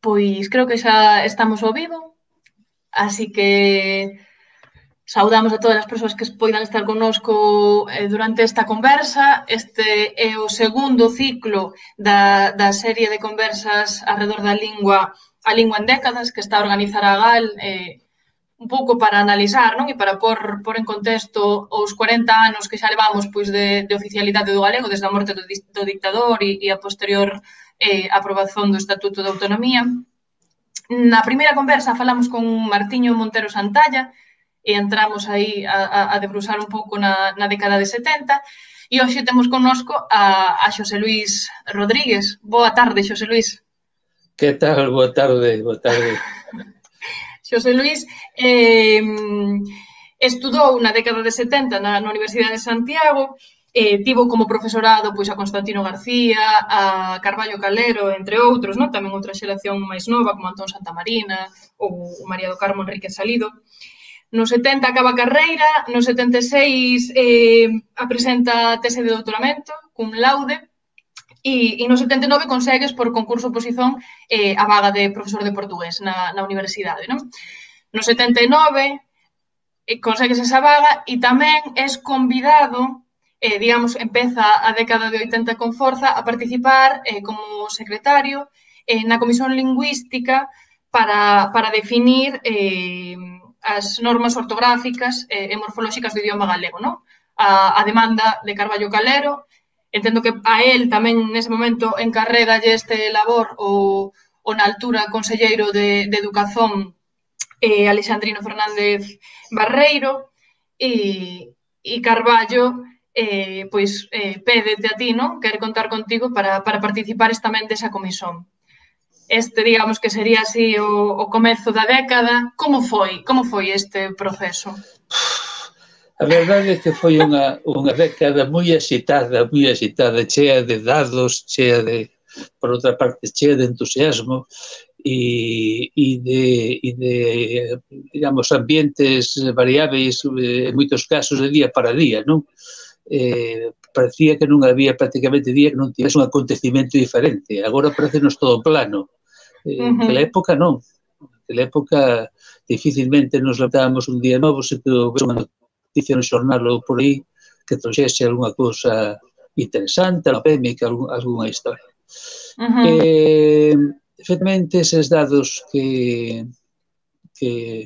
Pois creo que xa estamos ao vivo, así que saudamos a todas as persoas que poidan estar connosco durante esta conversa. Este é o segundo ciclo da serie de conversas alrededor da lingua, a lingua en décadas, que está a organizar a GAL un pouco para analizar, non? E para pôr en contexto os 40 anos que xa levamos pois, de oficialidade do galego, desde a morte do dictador e a posterior aprobación do Estatuto de Autonomía. Na primeira conversa falamos con Martiño Montero Santalla e entramos aí a debrusar un pouco na década de 70 e hoxe temos connosco a Xosé Luís Rodríguez. Boa tarde, Xosé Luís. Que tal? Boa tarde, boa tarde. Xosé Luís estudou na década de 70 na Universidade de Santiago, tivo como profesorado pois, a Constantino García, a Carballo Calero, entre outros, non? Tamén outra xeración máis nova, como Antón Santamarina ou María do Carmo Enríquez Salido. No 70 acaba a carreira, no 76 presenta a tese de doutoramento, cum laude, e no 79 consegues por concurso oposición a vaga de profesor de portugués na universidade, non? No 79 consegues esa vaga e tamén és convidado, digamos, empeza a década de 80 con forza a participar como secretario na Comisión Lingüística para definir as normas ortográficas e morfolóxicas do idioma galego, non? A demanda de Carballo Calero. Entendo que a él tamén nese momento encarrégalle este labor o na altura conselleiro de Educación Alexandrino Fernández Barreiro e Carballo pois pédete a ti, non? Quere contar contigo para participares tamén desa comisión. Este, digamos, que sería así o comezo da década. Como foi este proceso? A verdade é que foi unha década moi axitada, chea de dados, chea de, por outra parte, chea de entusiasmo e de, digamos, ambientes variáveis, en moitos casos, de día para día, non? Parecía que non había prácticamente día que non tivese un acontecimento diferente. Agora parece-nos todo plano. Naquela época non. Naquela época dificilmente nos levantábamos un día novo se que houvese unha noticia no xornal ou por aí que trouxese algunha cousa interesante, polémica, algunha historia. Efectivamente, eses dados que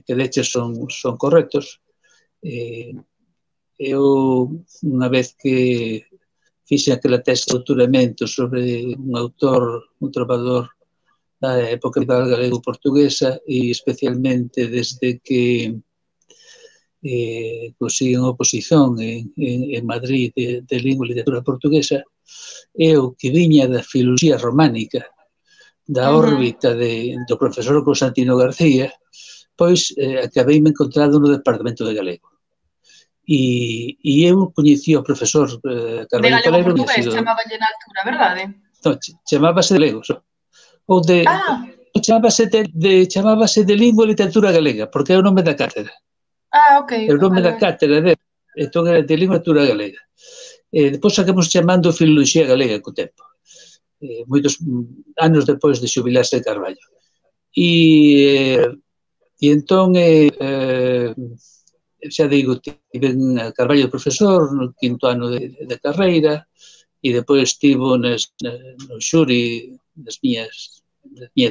leches son correctos. Eu, unha vez que fixe aquela tese de doutoramento sobre un autor, un trovador da época medieval galego-portuguesa e especialmente desde que consiguen oposición en Madrid de lingua e literatura portuguesa, eu que viña da filoloxía románica, da órbita do profesor Constantino García, pois acabei me encontrado no departamento de galego. E eu coñecí o profesor De Carballo Calero. galego portugués, chamabanlle na altura, verdade? Non, chamábase de galego, ou de... Chamábase de lingua e literatura galega, porque é o nome da cátedra. Ok. É o nome da cátedra dele, entón era de lingua e literatura galega. Depois acabamos chamando filoloxía galega co tempo, moitos anos depois de xubilarse Carballo. E entón, xa digo, tiven a Carballo de profesor no quinto ano de carreira e depois estivo no xuri das miña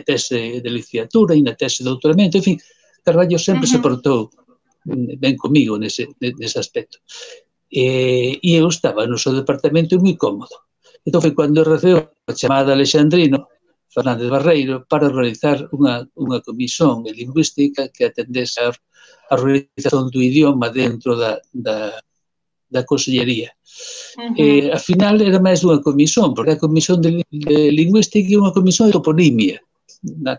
tese de licenciatura e na tese de doutoramento. En fin, Carballo sempre se portou ben comigo nese aspecto. E eu estaba no seu departamento moi cómodo. Entón foi cando recebeu a chamada Alexandrino Fernández Barreiro para realizar unha comisión de lingüística que atendese a realización do idioma dentro da consellería. Al final era máis dunha comisión, porque a comisión de lingüística é unha comisión de toponimia.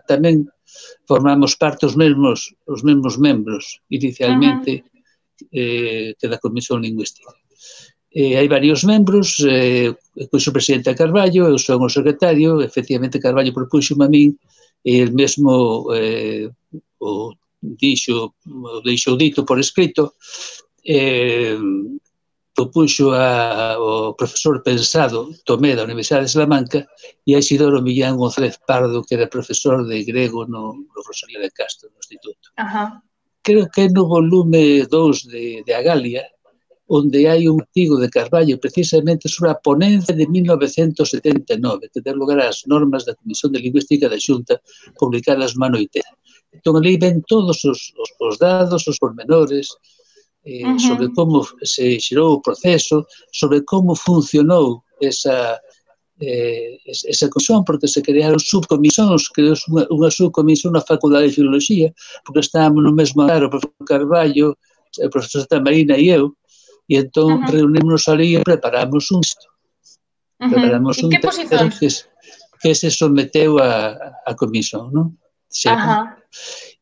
Tamén formamos parte os mesmos membros inicialmente que da comisión lingüística. Hai varios membros, pois o presidente Carballo, eu son o secretario, efectivamente Carballo propúxome a min, e el mesmo o deixou dito por escrito, puxo o profesor pensado Tomé da Universidade de Salamanca e a Isidoro Millán González Pardo, que era profesor de grego no Rosalía de Castro, no Instituto. Creo que no volume 2 de Agalia, onde hai un artigo de Carballo precisamente sobre a ponencia de 1979, que dá lugar ás normas da Comisión de Lingüística da Xunta publicadas no ano 80. Entón, ali ven todos os dados, os pormenores, sobre como se xerou o proceso, sobre como funcionou esa comisión, porque se crearon subcomisións, creou unha subcomisión na Facultade de Filoloxía, porque estábamos no mesmo andar, o profesor Carballo, o profesor Santa Marina e eu, e entón reunímonos ali e preparamos un texto. Preparamos un texto que se someteu a comisión, non?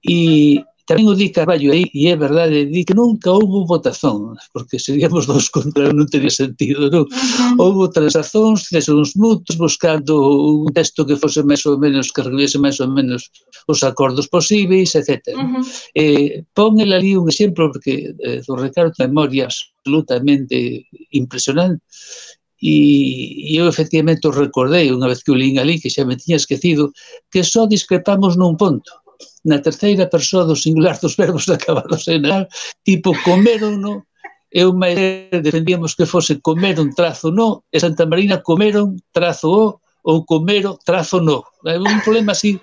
E tamén o di Carballo aí, e é verdade, di que nunca houve votación, porque seríamos dos contra, non teria sentido, non? Houve transazóns, uns mutuos, buscando un texto que fose máis ou menos, que recolhese máis ou menos os acordos posíveis, etc. Pon el ali un exemplo, porque do Ricardo de memoria absolutamente impresionante, e eu efectivamente o recordei unha vez que o lín ali, que xa me tiña esquecido, que só discrepamos nun ponto, na terceira persoa do singular dos verbos acabados en al, tipo comeron, no, eu máis defendíamos que fose comeron trazo no, e Santa Marina comeron trazo o, ou comero trazo no. Un problema así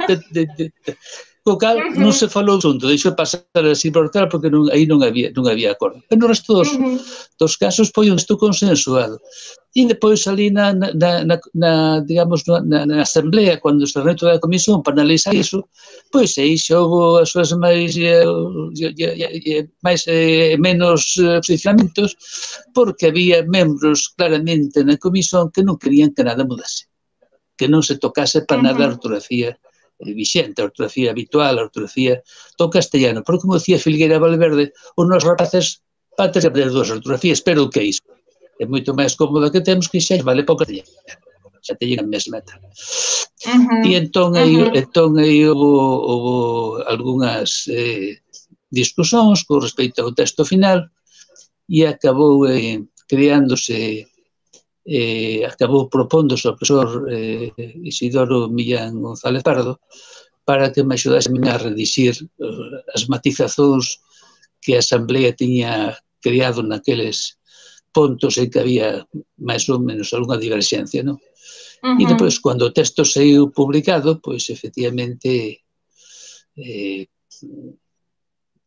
co cal non se falou xunto, deixou pasar así por tal, porque aí non había acordo. Pero no resto dos casos foi un texto consensuado. E depois ali digamos, na asamblea, cando se reuniu toda a comisión para analizar iso, pois aí xa houve as súas máis menos posicionamentos, porque había membros claramente na comisión que non querían que nada mudase, que non se tocase para nada a ortografía vixente, a ortografía habitual, a ortografía do castellano. Porque, como decía Filgueira Valverde, os nosos rapaces van ter que aprender dúas ortografías, pero o que é iso? É moito máis cómodo que temos, que xa vale para o castellano. Xa te llega a mesma tal. E entón aí houve algunhas discusións con respecto ao texto final e acabou creándose acabou propóndose ao profesor Isidoro Millán González Pardo para que me axudase a redixir as matizazóns que a Asamblea tiña creado naqueles puntos en que había máis ou menos algunha diverxencia, non? E depois, cando o texto saiu publicado, pois, efectivamente,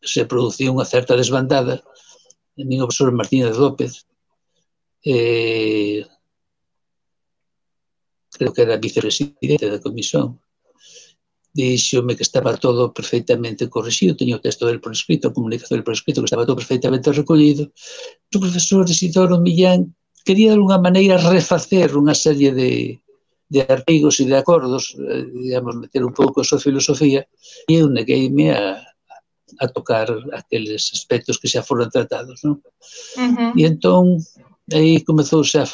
se produciu unha certa desbandada. A mí o profesor Martínez López, creo que era vicepresidente da comisión, díxome que estaba todo perfectamente corrixido, teño o texto del por escrito, a comunicación del por escrito, que estaba todo perfectamente recollido. O profesor Isidoro Millán quería de alguna maneira refacer unha serie de artigos e de acordos, digamos, meter un pouco a súa filosofía, e eu negueime a tocar aqueles aspectos que xa foron tratados, non? E entón, aí comezouse a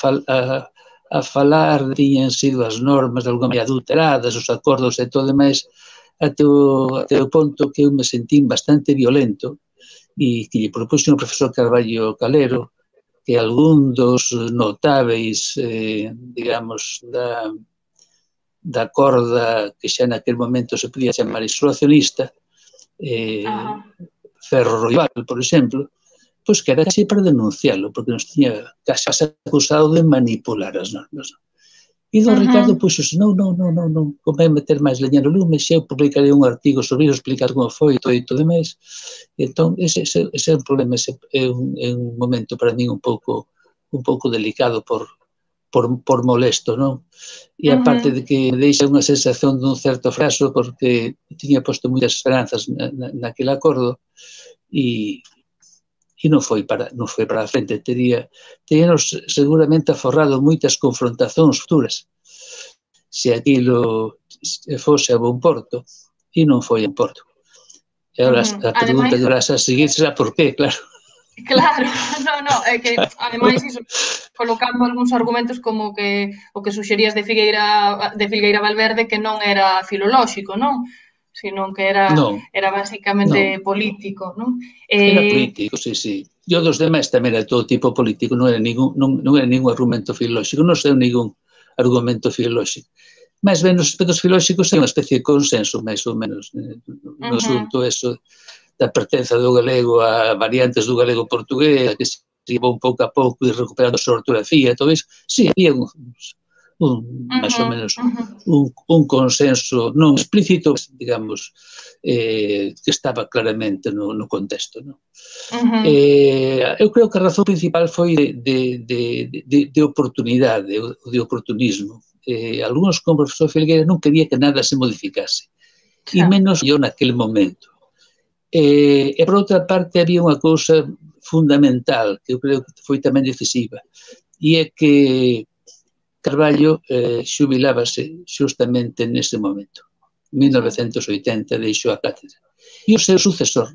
falar, tiñan sido as normas de alguma maneira adulteradas, os acordos e todo demais, até o ponto que eu me sentín bastante violento e que lle propuxo o profesor Carballo Calero que algún dos notáveis, digamos, da corda que xa naquel momento se podía chamar isolacionista, Ferro Roibal, por exemplo, pois que era casi para denunciarlo, porque nos tiña casi acusado de manipular as normas. E don Ricardo puxose, non, convén meter máis leña no lume, xa eu publicarei un artigo sobre iso, explicar como foi e todo demais. Entón, ese é un problema, é un momento para mí un pouco delicado por molesto, non? E aparte de que deixa unha sensación dun certo fracaso, porque tiña posto moitas esperanzas naquele acordo e non foi para a frente, teríanos seguramente aforrado moitas confrontacións futuras se aquilo fose a bon porto, e non foi a bon porto. E agora a pregunta que vas a seguir será por qué, claro. Claro, é que ademais iso, colocando algúns argumentos como que o que suxerías de Filgueira Valverde que non era filolóxico, non? Sino que era basicamente político, non? Era político, sí. E o dos demais tamén era todo tipo político, non era ningún argumento filolóxico, non sei ningún argumento filolóxico. Mais ben, nos aspectos filolóxicos é unha especie de consenso, máis ou menos, no asunto eso da pertenza do galego a variantes do galego portugués, que se iba un pouco a pouco e recuperando a súa ortografía, todo iso. Sí, había máis ou menos un consenso non explícito, digamos, que estaba claramente no contexto. Non? Eu creo que a razón principal foi de oportunidade, de oportunismo. Algúns, como o profesor Filgueira, non quería que nada se modificase, e menos yo naquele momento. E, por outra parte, había unha cousa fundamental, que eu creo que foi tamén decisiva, e é que Carballo xubilábase justamente nese momento. En 1980 deixou a cátedra. E o seu sucesor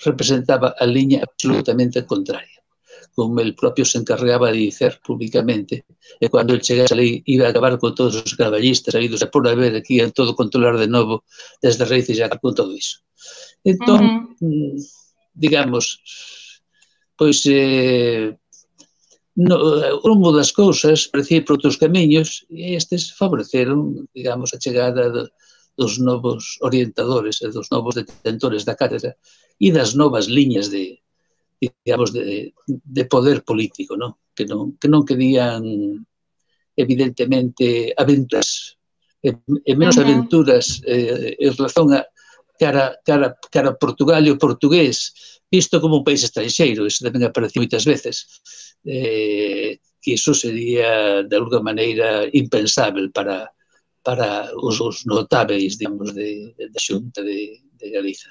representaba a liña absolutamente contraria, como el propio se encargaba de dicer públicamente, e cando el chegase ali iba a acabar con todos os carballistas, saídos a por haber aquí a todo controlar de novo desde raíces e acabar con todo iso. Entón, digamos, pois o rumbo das cousas parecía por outros camiños e estes favoreceron, digamos, a chegada dos novos orientadores e dos novos detentores da cátedra e das novas liñas digamos, de poder político, ¿no? Que non querían, evidentemente, aventuras, e menos aventuras en relación a cara a Portugal e o portugués, visto como un país estranxeiro, iso tamén aparece moitas veces, que iso sería, de alguna maneira, impensável para os notáveis, digamos, da Xunta de Galiza.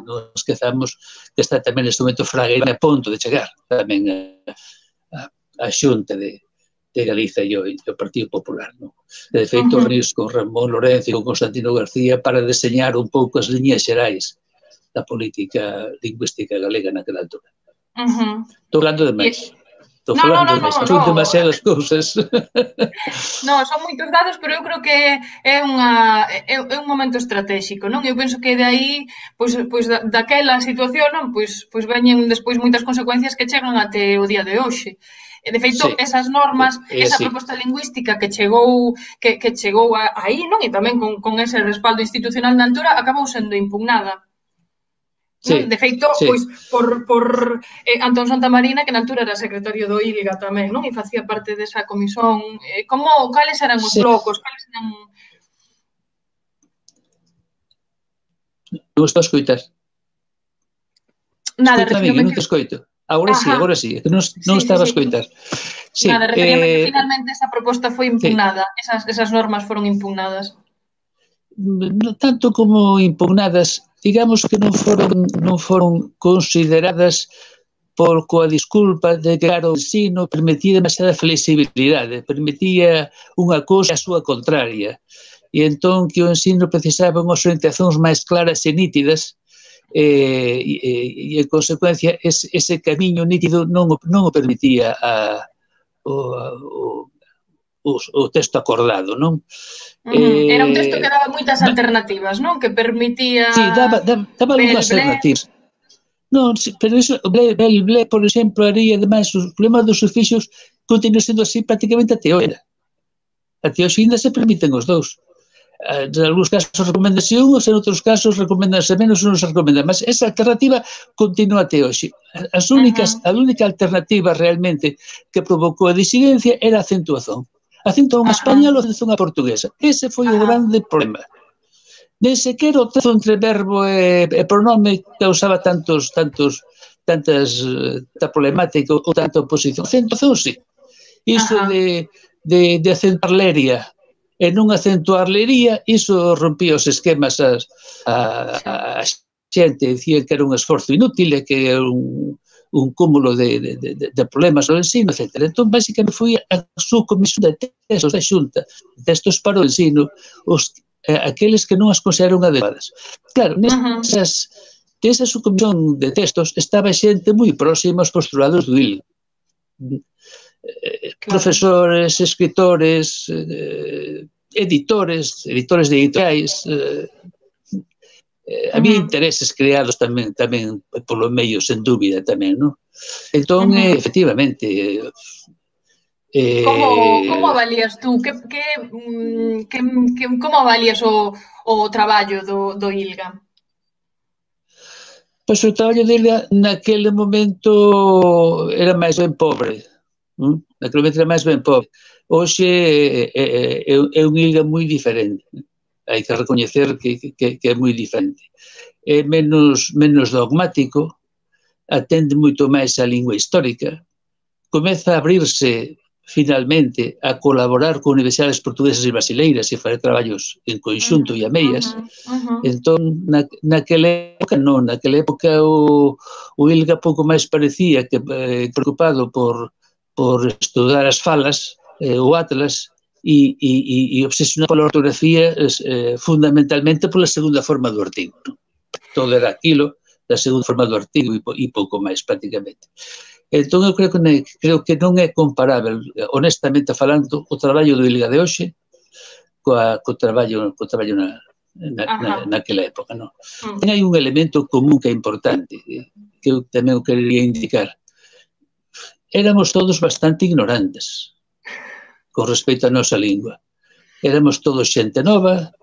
Non esquezamos que está tamén neste momento Fraga a punto de chegar tamén a Xunta de Galiza e o Partido Popular. De feito, reunius con Ramón Lorenzo e con Constantino García para deseñar un pouco as liñas xerais da política lingüística galega naquela altura. Estou falando de máis. Estou falando de máis. Son demasiadas cousas. Non, son moitos dados, pero eu creo que é un momento estratégico, non? Eu penso que de aí, pois daquela situación, non? Pois veñen despois moitas consecuencias que chegan até o día de hoxe. De feito, esas normas, esa proposta lingüística que chegou aí, non? E tamén con ese respaldo institucional na altura, acabou sendo impugnada. De feito, pois, por Antón Santamarina, que na altura era secretario do ILGA tamén, non? E facía parte desa comisión. Cales eran os blocos? Cales eran... Non estou a escoitar. Nada, referíame... Non te escoito. Agora sí, non estaba a escoitar. Nada, referíame que finalmente esa proposta foi impugnada, esas normas foron impugnadas. Tanto como impugnadas, digamos que non foron consideradas coa disculpa de que, claro, o ensino permitía demasiada flexibilidade, permitía unha cousa a súa contraria, e entón que o ensino precisaba unhas orientacións máis claras e nítidas, e en consecuencia ese camiño nítido non o permitía o texto acordado, non? Era un texto que daba moitas alternativas, non? Que permitía... Sí, daba algunhas alternativas. Non, pero iso, Ble, por exemplo, haría, ademais, os problemas dos sufixos continúan sendo así prácticamente até hoxe. Até hoxe ainda se permiten os dous. En algúns casos recomendanse unhos, en outros casos recomendanse menos, non se recomendan, mas esa alternativa continúa até hoxe. A única alternativa realmente que provocou a disidencia era a acentuación. Acentuación a española ou acentuación a portuguesa. Ese foi o grande problema. Nem sequer o trazo entre verbo e pronome causaba tanta problemática ou tanta oposición. Acentuación, sí. Iso de acentuar leria e non acentuar lería, iso rompía os esquemas a xente, dicía que era un esforzo inútil e que era un cúmulo de problemas no ensino, etc. Entón, basicamente, foi a súa comisión de textos da Xunta, textos para o ensino, aqueles que non as consideraron adecuadas. Claro, nesa subcomisión de textos estaba xente moi próxima aos postulados do ILGA. Profesores, escritores, editores de editoriais, había intereses creados tamén polo medio, sen dúbida tamén, non? Entón, efectivamente, Como avalías tú? Como avalías o traballo do ILGA? Pois o traballo dele naquele momento era máis ben pobre. Naquele momento era máis ben pobre. Hoxe é un ILGA moi diferente. Hai que recoñecer que é moi diferente. É menos dogmático, atende moito máis a lingua histórica, comeza a abrirse finalmente a colaborar con universidades portuguesas e brasileiras e fazer traballos en conxunto e a meias. Entón, naquela época non, naquela época o ILGA pouco máis parecía que preocupado por estudar as falas, o Atlas, e obsesionado pola ortografía fundamentalmente pola segunda forma do artigo. Todo era aquilo da segunda forma do artigo e pouco máis, prácticamente. Entón, eu creo que non é comparável, honestamente falando, o traballo do ILGA de hoxe co traballo naquela época, non? Ten aí un elemento común que é importante, que eu tamén o quería indicar. Éramos todos bastante ignorantes con respecto á nosa lingua. Éramos todos xente nova,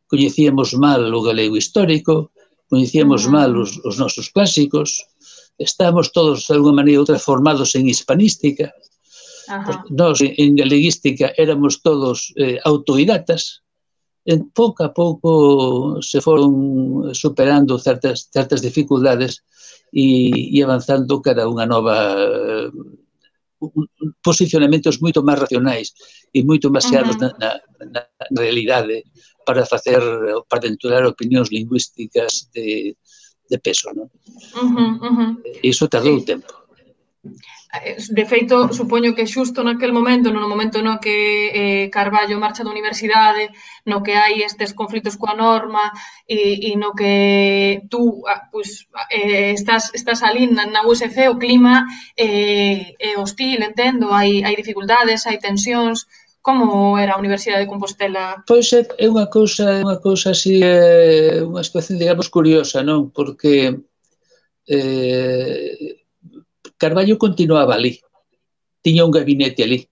coñecíamos mal o galego histórico, coñecíamos mal os nosos clásicos, estábamos todos, de alguma maneira outra, formados en hispanística. Nós, en galeguística, éramos todos autodidatas. Pouco a pouco se foron superando certas dificultades e avanzando cara a unha nova posicionamentos moito máis racionais e moito máis xeados na realidade para aventurar opinións lingüísticas de peso, non? Iso tardou tempo. De feito, supoño que xusto naquel momento, no momento no que Carballo marcha da universidade, no que hai estes conflitos coa norma e no que tú estás ali na USC, o clima é hostil, entendo, hai dificultades, hai tensións. Como era a Universidade de Compostela? Pois é unha cousa así, unha situación, digamos, curiosa, non? Porque Carballo continuaba ali, tiña un gabinete ali,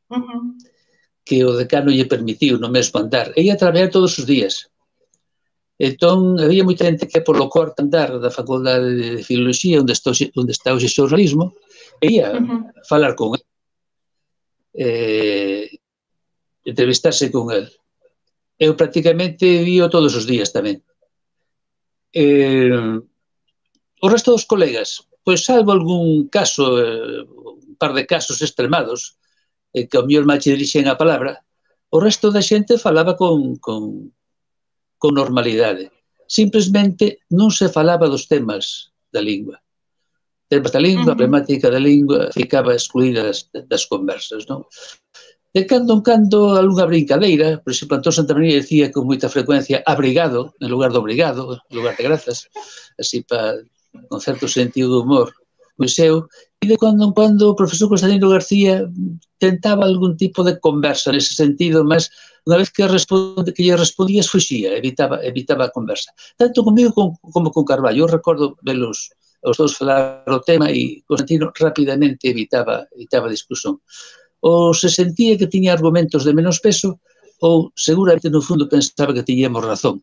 que o decano lle permitiu no mesmo andar, e ia traballar todos os días. Entón, había moita xente que polo cuarto andar da Facultade de Filoloxía, onde está hoxe xornalismo, e ia falar con el, entrevistarse con el. Eu prácticamente vío todos os días tamén. O resto dos colegas, pois salvo algún caso, un par de casos extremados, que ao mellor mal che dirixen a palabra, o resto da xente falaba con normalidade. Simplesmente non se falaba dos temas da lingua. Temas da lingua, a problemática da lingua, ficaba excluída das conversas, non? De cando en cando, algunha brincadeira, por exemplo, Antón Santamaría decía con moita frecuencia abrigado, en lugar de obrigado, en lugar de grazas, así con certo sentido de humor moi seu, e de cando en cando o profesor Constantino García tentaba algún tipo de conversa nese sentido, mas unha vez que lle respondías fuxía, evitaba a conversa. Tanto comigo como con Carballo. Eu recordo velos os dous falar o tema e Constantino rapidamente evitaba a discusión. Ou se sentía que tiña argumentos de menos peso, ou seguramente no fundo pensaba que tiñamos razón,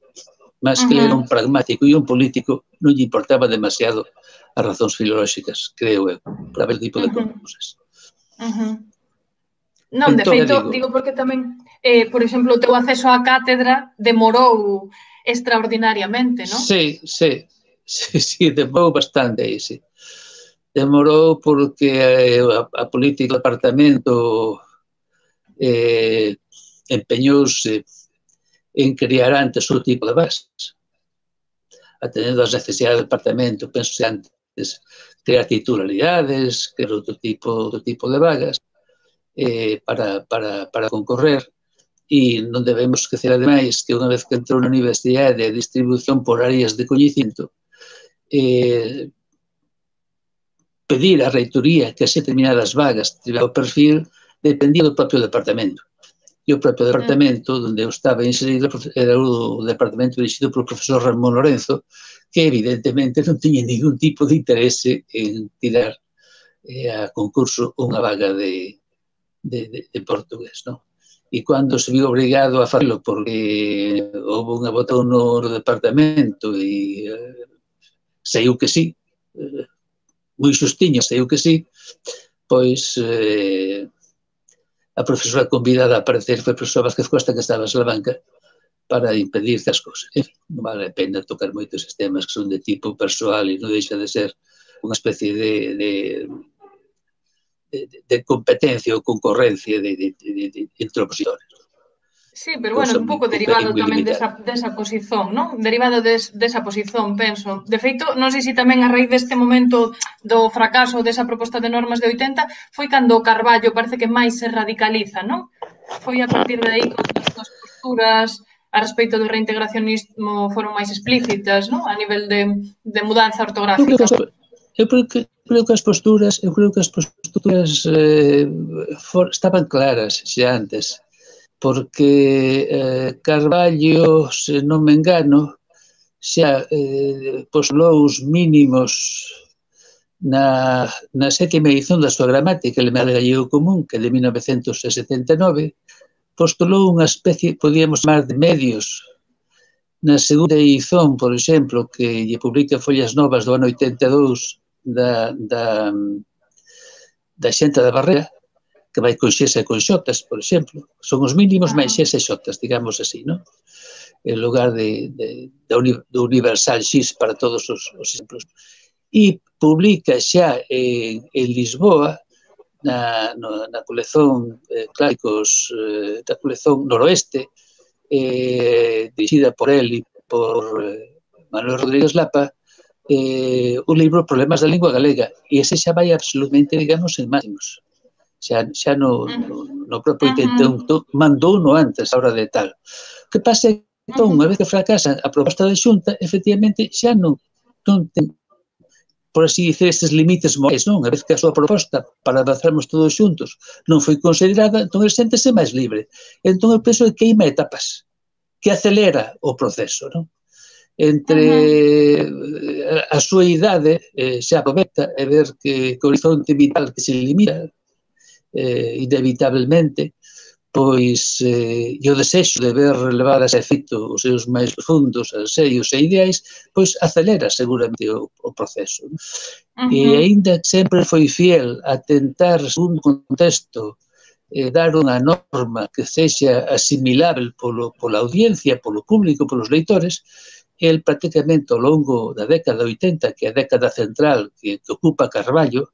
mas que era un pragmático e un político, non lle importaba demasiado as razóns filolóxicas, creo eu, para ver tipo de cousas. Non, de feito, digo porque tamén, por exemplo, o teu acceso á cátedra demorou extraordinariamente, non? Sí, demorou bastante aí, sí. Demorou porque a política do departamento empeñouse en crear antes outro tipo de bases, atendendo ás necesidades do departamento, penso antes crear titularidades, crear outro tipo de vagas para concorrer, e non debemos esquecer, ademais, que unha vez que entrou na universidade a distribución por áreas de coñecimento, pedir á reitoría que se determinadas vagas tivera o perfil dependía do propio departamento. E o propio departamento onde eu estaba inserido era o departamento dirixido polo profesor Ramón Lorenzo, que evidentemente non tiña ningún tipo de interese en tirar a concurso unha vaga de portugués, non? E cando se viu obrigado a facelo porque houve unha votación no departamento e saiu que sí, moi xustiño saiu que sí, pois a profesora convidada a aparecer foi a profesora Vázquez Costa, que estaba en Salamanca, para impedir estas cousas. Non vale a pena tocar moitos sistemas que son de tipo persoal e non deixa de ser unha especie de competencia ou concorrencia entre opositores. Sí, pero bueno, un pouco derivado tamén desa posición, non? Derivado desa posición, penso. De feito, non sei se tamén a raíz deste momento do fracaso desa proposta de normas de 80 foi cando Carballo parece que máis se radicaliza, non? Foi a partir de aí que as súas posturas a respecto do reintegracionismo foron máis explícitas, non? A nivel de mudanza ortográfica. Eu creo que as posturas estaban claras xa antes, porque Carballo, se non me engano, xa postulou os mínimos na sétima edición da súa gramática elemental gallego común, que é de 1979, postulou unha especie, podíamos chamar, de medios. Na segunda edición, por exemplo, que lle publica Follas Novas do ano 82 da Xenta da Barrera, que vai con xes e con xotas, por exemplo. Son os mínimos máis xes e xotas, digamos así, non? En lugar do universal xis para todos os exemplos. E publica xa en Lisboa, na colección clásicos da colección Noroeste, dirixida por él e por Manuel Rodríguez Lapa, o libro Problemas da Lingua Galega. E ese xa vai absolutamente, digamos, en máximos. Xa no propio intento, mandou no antes, a hora de tal. O que pasa é que, entón, unha vez que fracasa a proposta da Xunta, efectivamente, xa non ten, por así dicer, estes límites morais, non? Unha vez que a súa proposta para avanzarmos todos xuntos non foi considerada, entón ele séntese máis libre. Entón, eu penso que queima etapas, que acelera o proceso, non? Entre a súa idade xa aproveita e ver que o horizonte vital que se limita inevitablemente, pois e o desexo de ver relevadas a efecto os seus máis profundos anseios e ideais, pois acelera seguramente o proceso. E aínda sempre foi fiel a tentar, segundo contexto, dar unha norma que sexa asimilável pola audiencia, polo público, polos leitores. El prácticamente ao longo da década 80, que é a década central que ocupa Carballo,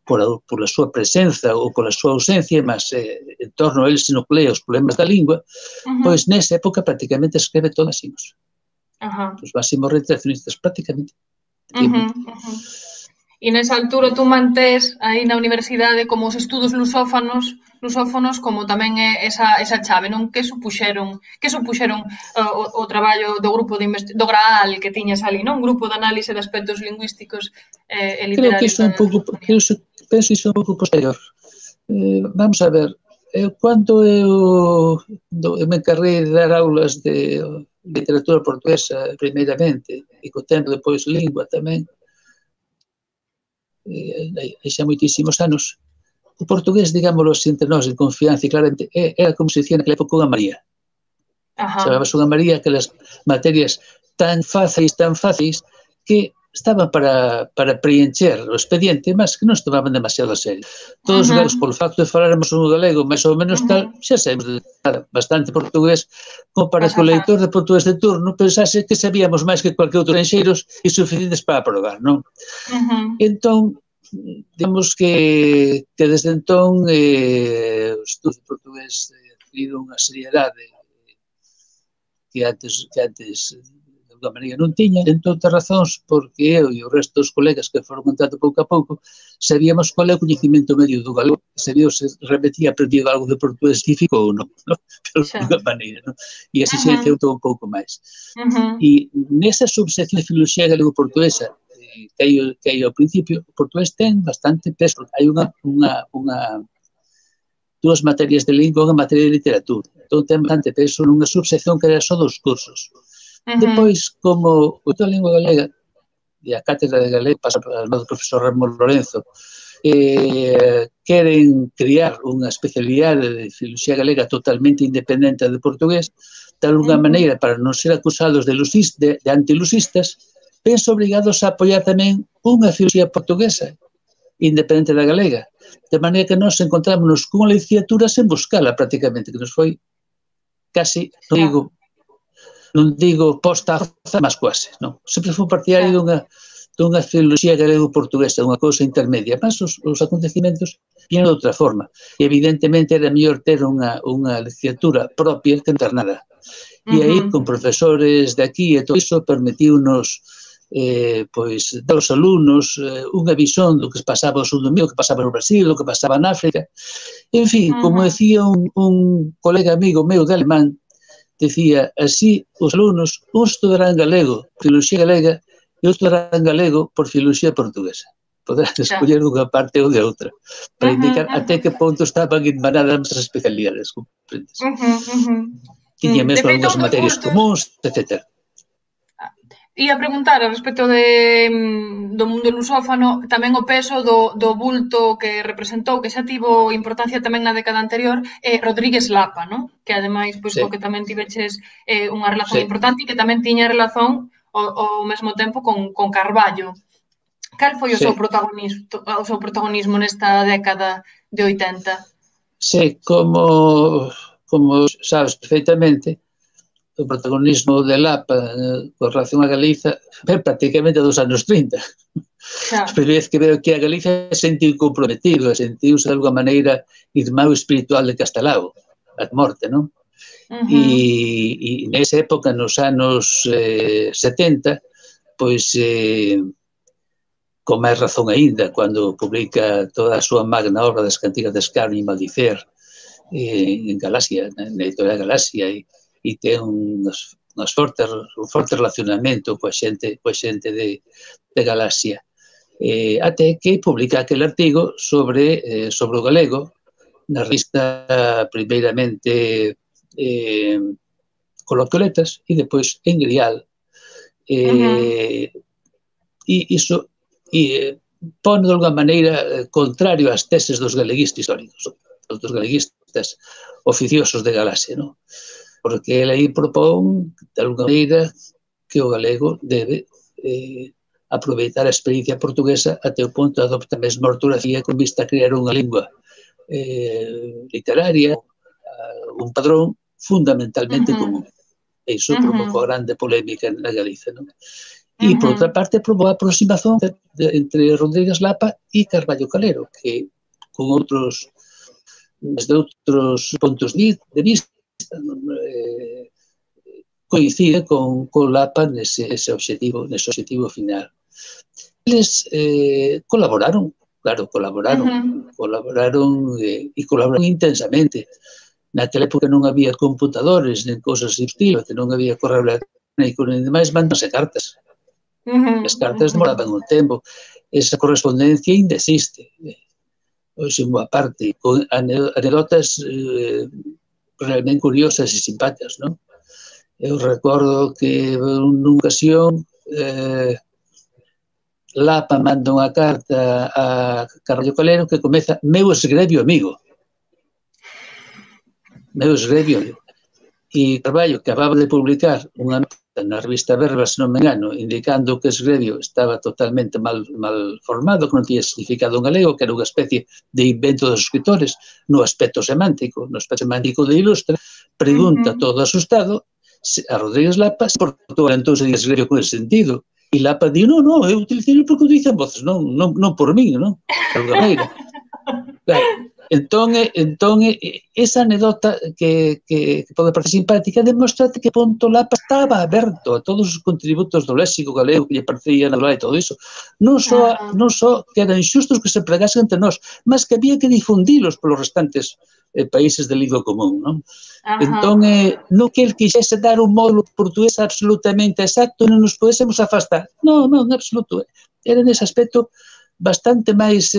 pola súa presenza ou pola súa ausencia, mas en torno a ele se nuclea os problemas da lingua, pois nesa época prácticamente escreve todos máximos. Os máximos reintegracionistas, prácticamente. E nesa altura tú mantés aí na universidade como os estudos lusófonos como tamén é esa chave, non? Que supuxeron o traballo do grupo do GRAAL que tiñas ali, non? Un grupo de análise de aspectos lingüísticos e literarios. Penso iso un pouco posterior. Vamos a ver, cando eu me encarguei de dar aulas de literatura portuguesa primeiramente e co tempo depois lingua tamén, xa moitísimos anos, o portugués, digámoslo así, entre nós, en confianza e claramente, era como se dicía naquela época unha María. Chamábase unha María, aquelas materias tan fáceis, que estaban para preencher o expediente, mas que non se tomaban demasiado a serio. Todos os galegos, polo facto de faláramos un galego máis ou menos tal, xa sabemos bastante portugués, como para que o leitor de portugués de turno pensase que sabíamos máis que cualquier outro estranxeiros e suficientes para aprobar, non? Entón, digamos que desde entón o estudo de portugués adquirido unha seriedade que antes de alguma maneira non tiña, entre outras razóns, porque eu e o resto dos colegas que foron contando pouco a pouco sabíamos qual é o coñecemento medio do galego, sabíamos se repetía aprendido algo de portugués científico ou non, de alguma maneira, non? E así se centrou un pouco máis. E nesa subsección de filoloxía galego-portuguesa que hai ao principio, o portugués ten bastante peso. Hai dúas materias de lingua, unha materia de literatura. Entón, ten bastante peso nunha subsección que era só dos cursos. Depois, como a lingua galega e a cátedra de galego pasa para o profesor Ramón Lorenzo, queren criar unha especialidade de filoloxía galega totalmente independente de portugués, de alguna maneira, para non ser acusados de antilusistas, penso obrigados a apoiar tamén unha filoloxía portuguesa independente da galega, de maneira que nos encontrámonos cunha licenciatura sen buscala prácticamente, que nos foi casi, non digo posta a roza, mas quase, non? Sempre foi partidario dunha filoloxía galego-portuguesa, unha cousa intermedia, mas os acontecimentos viñan de outra forma. E evidentemente era mellor ter unha licenciatura propia que internada. E aí, con profesores de aquí e todo iso, permitiu-nos dar aos alumnos unha visión do que pasaba ao sul do mundo, o que pasaba no Brasil, o que pasaba en África. En fin, como decía un colega amigo meu de alemán, decía, así os alumnos, uns estudarán galego, filoloxía galega, e outros estudarán galego por filoloxía portuguesa. Poderán escoller dunha parte ou de outra, para indicar até que ponto estaban irmanadas as especialidades, comprendes? Tiña mesmo algunhas materias comuns, etc. Ia preguntar a respecto do mundo lusófano, tamén o peso do bulto que representou, que xa tivo importancia tamén na década anterior, Rodríguez Lapa, non? Que ademais, pois, co que tamén tiveches unha relación importante e que tamén tiña relación ao mesmo tempo con Carballo. Cal foi o seu protagonismo nesta década de 80? Sí, como sabes perfectamente, o protagonismo de Lapa con relación a Galiza é prácticamente dos anos 30. A primeira vez que veo que a Galiza sentiu comprometido, sentiuse de alguma maneira irmão espiritual de Castelao, a morte, non? E nesa época, nos anos 70, pois, con máis razón aínda, cando publica toda a súa magna obra das Cantigas de Escarnio e Maldicer en Galaxia, na editorial Galaxia, e ten un forte relacionamento coa xente de Galaxia. Até que publica aquel artigo sobre o galego na revista primeiramente Coloquioletas e depois en Grial. E iso pone de alguma maneira contrario ás teses dos galeguistas históricos, dos galeguistas oficiosos de Galaxia, non? Porque ele aí propón, de alguma maneira, que o galego debe aproveitar a experiencia portuguesa até o punto de adoptar a mesma ortografía con vista a crear unha lingua literaria, un padrón fundamentalmente común. E iso provocou grande polémica na Galiza, non? E, por outra parte, provocou a aproximación entre Rodríguez Lapa e Carballo Calero, que desde outros puntos de vista coincide con Lapa nese obxectivo final. Eles colaboraron intensamente. Naquela época non había computadores, nen cousas de estilo, que non había correo electrónico, nen demais, mandanse cartas. As cartas demoraban un tempo. Esa correspondencia ainda existe. Hoxe, unha parte, con anedotas realmente curiosas e simpáticas, non? Eu recordo que nunha ocasión Lapa manda unha carta a Carballo Calero que comeza meu esgrebio amigo. Meu esgrebio. E Carballo, que acababa de publicar unha nota na revista Verba, se non me engano, indicando que esgrebio estaba totalmente mal formado, que non tiña significado en galego, que era unha especie de invento dos escritores, no aspecto semántico de Ilustra, pregunta todo asustado a Rodríguez Lapa se Portugal entón se diga esgrebio con ese sentido. E Lapa di, non, eu utilicei porque o dicen voces, non por min, non? De alguma maneira. Claro. Entón, esa anedota que pode parecer simpática demostra que punto Lapa estaba aberto a todos os contributos do léxico galego que lle parecía natural e todo iso. Non só que eran xustos que se pregasen entre nós, mas que había que difundilos polos restantes países de lingua común, non? Entón, non que el quixese dar un módulo portugués absolutamente exacto e non nos podésemos afastar. Non, en absoluto. Era nese aspecto bastante máis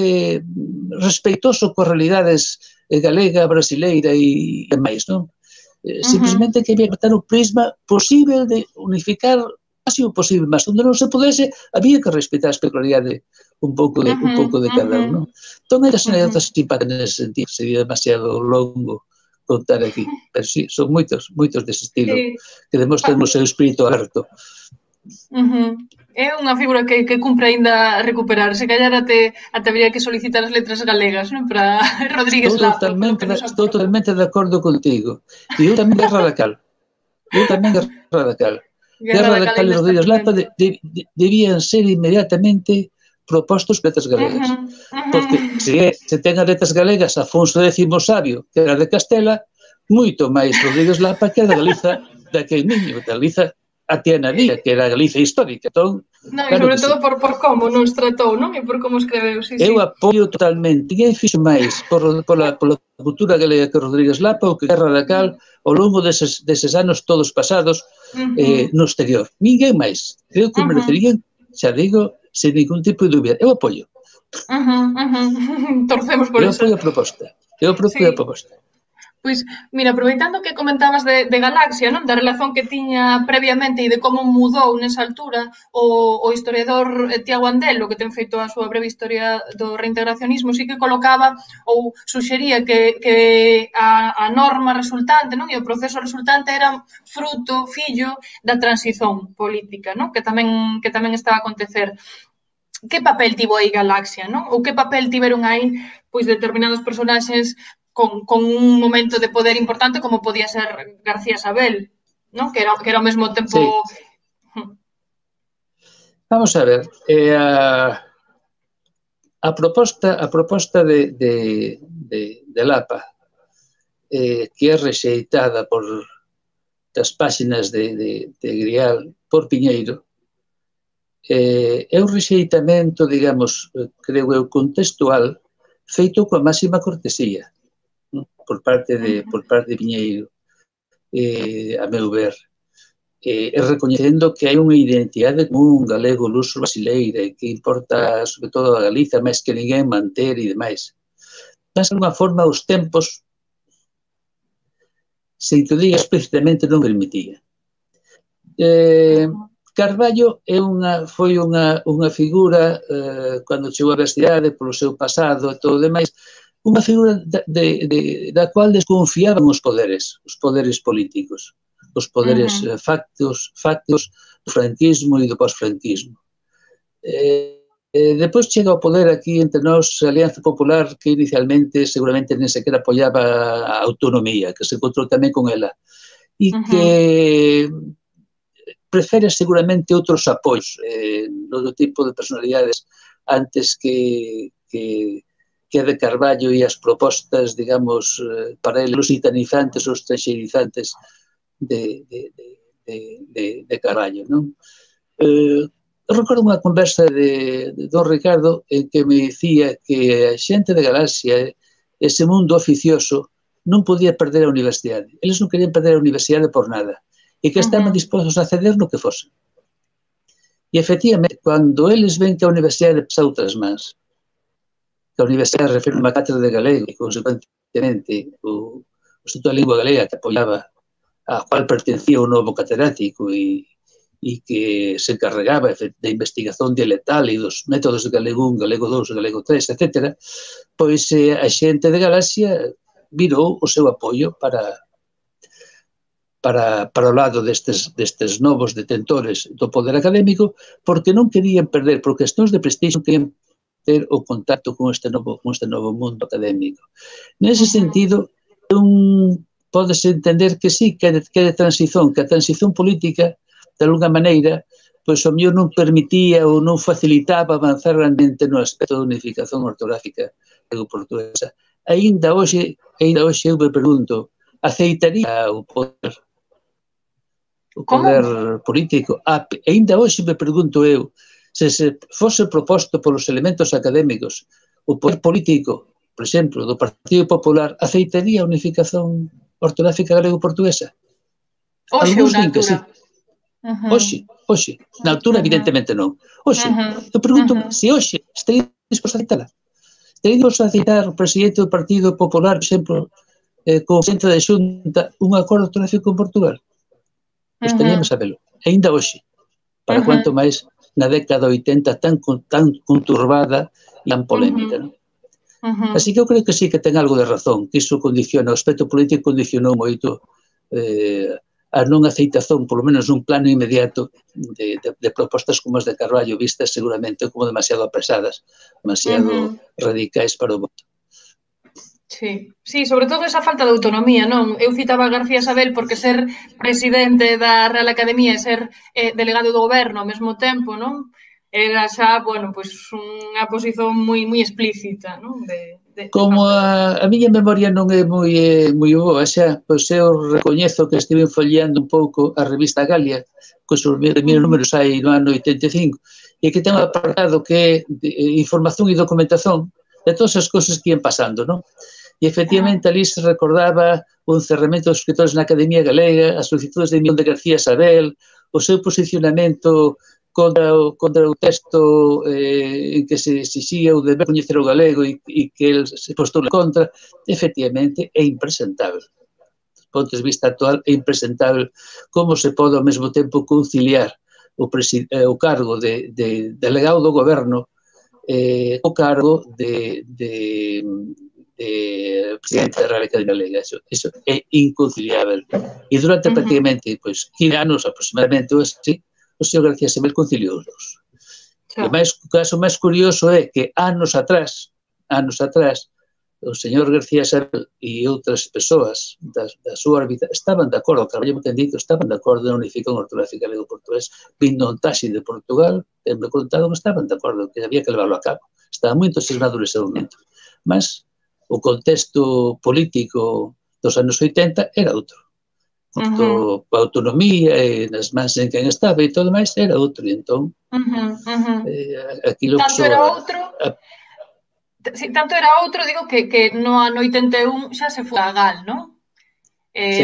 respeitoso coas realidades galega, brasileira e máis, non? Simplemente que había que botar o prisma posible de unificar casi o posible, mas onde non se podese, había que respetar a peculiaridade un pouco de cada un, non? Entón, hai anécdotas simpáticas nese sentido, sería demasiado longo contar aquí, pero sí, son moitos dese estilo, que demostran o seu espírito aberto. É unha figura que cumpre aínda recuperar. Se calhar até habría que solicitar as letras galegas, non? Para Rodríguez Lapa. Estou totalmente de acordo contigo. E eu tamén Guerra radical. Guerra radical e Rodríguez Lapa debían ser inmediatamente propostos letras galegas. Porque se ten as letras galegas Afonso X Sabio, que era de Castela, moito máis Rodríguez Lapa que era de Galiza daquel niño, de Galiza a Tiana Díaz, que era a Galiza histórica. Entón, e sobre todo por como nos tratou, non? E por como escreveu, Eu apoio totalmente. Ninguén fixo máis pola cultura galega que Rodríguez Lapa ou que Guerra radical ao longo deses anos todos pasados no exterior. Ninguén máis. Creo que merecerían, xa digo, sen ningún tipo de dúbida. Eu apoio. Torcemos por eso. Eu apoio a proposta. Pois, mira, aproveitando que comentabas de Galaxia, non? Da relación que tiña previamente e de como mudou nesa altura o historiador Tiago Andelo, que ten feito a súa breve historia do reintegracionismo, sí que colocaba ou suxería que a norma resultante, non? E o proceso resultante era fruto, fillo da transición política, non? Que tamén estaba a acontecer. Que papel tivo aí Galaxia, non? Ou que papel tiveron aí pois determinados personaxes con un momento de poder importante como podía ser García Sabel, non? Que era ao mesmo tempo... Vamos a ver, a proposta de Lapa, que é rexeitada por das páxinas de Grial por Piñeiro, é un rexeitamento, digamos, creo eu, contextual, feito coa máxima cortesía por parte de Piñeiro, a meu ver, e recoñecendo que hai unha identidade común galego, luso, brasileira, e que importa, sobre todo, a Galiza, máis que ninguén manter e demais. Mas, de alguma forma, os tempos, se te diga explícitamente, non permitía. Carballo foi unha figura, cando chegou á universidade, polo seu pasado e todo o demais, unha figura da cual desconfiaban os poderes políticos, os poderes factos do franquismo e do posfranquismo. Depois chega ao poder aquí entre nós a Alianza Popular, que inicialmente seguramente nem sequera apoiaba a autonomía, que se encontrou tamén con ela, e que prefere seguramente outros apoios do tipo de personalidades antes que a de Carballo e as propostas, digamos, para ele lusitanizantes ou estranxeirizantes de Carballo, non? Recordo unha conversa de don Ricardo en que me dicía que a xente de Galaxia, ese mundo oficioso, non podía perder a universidade. Eles non querían perder a universidade por nada e que estaban dispostos a ceder no que fose. E, efectivamente, cando eles ven que a universidade pasa outras mans, que a universidade refere unha cátedra de galego e, consecuentemente, o Instituto da Lingua Galega que apoiaba, a cual pertencía o novo catedrático e que se encarregaba da investigación dialectal e dos métodos de galego 1, galego 2, galego 3, etc., pois a xente de Galaxia virou o seu apoio para o lado destes novos detentores do poder académico, porque non querían perder, por cuestións de prestixio, non querían ter o contacto con este novo mundo académico. Nese sentido, pódese entender que sí, que é de transición, que a transición política, de alguna maneira, pois o mellor non permitía ou non facilitaba avanzar grandemente no aspecto de unificación ortográfica galego-portuguesa. Ainda hoxe eu me pregunto, aceitaría o poder político? Ainda hoxe me pregunto eu, se fose proposto polos elementos académicos o poder político, por exemplo, do Partido Popular, aceitaría a unificación ortográfica galego-portuguesa? Algúns din que sí. Hoxe. Na altura, evidentemente, non. Hoxe. Eu pregunto se hoxe estaría disposto a aceitala. Estaría disposto a aceitar o presidente do Partido Popular, por exemplo, co presidente da Xunta un acordo ortográfico con Portugal. Gostaríamos sabelo. Ainda hoxe, para cuanto máis na década 80 tan conturbada e tan polémica, non? Así que eu creo que sí que ten algo de razón, que iso condiciona, o aspecto político condicionou moito a non aceitación, polo menos nun plano inmediato, de propostas como as de Carballo, vistas seguramente como demasiado apresadas, demasiado radicais para o voto. Sí, sí, sobre todo esa falta de autonomía, non? Eu citaba a García Sabel porque ser presidente da Real Academia e ser delegado do goberno ao mesmo tempo, non? Era xa, bueno, pois unha posición moi explícita, non? Como a miña memoria non é moi boa, xa, pois eu recoñezo que estive folleando un pouco a revista Galia, cos primeiros números hai no ano 85, e que ten un apartado que é información e documentación de todas as cousas que ian pasando, non? E, efectivamente, ali se recordaba o encerramento dos escritores na Academia Galega, as solicitudes de emisión de García Sabel, o seu posicionamento contra o texto en que se exixía o deber coñecer o galego e que el se postula contra. Efectivamente, é impresentable. Do ponto de vista actual, é impresentable como se pode ao mesmo tempo conciliar o cargo de delegado do goberno o cargo de presidente da Real Academia Galega. Eso é inconciliável. E durante prácticamente 15 anos aproximadamente, o señor García Sabel conciliou os dos. O caso máis curioso é que anos atrás, o señor García Sabel e outras persoas da súa órbita estaban de acordo, Carballo ten dito, estaban de acordo na unificación ortográfica galego-portugués, vindo un taxi de Portugal, tenme contado que estaban de acordo, que había que levarlo a cabo. Estaban moi entusiasmados nese momento. Mas o contexto político dos anos 80 era outro. A autonomía e nas mans en quen estaba e todo máis era outro. E entón, aquilo... Tanto era outro, digo, que no ano 81 xa se foi a Gal, non?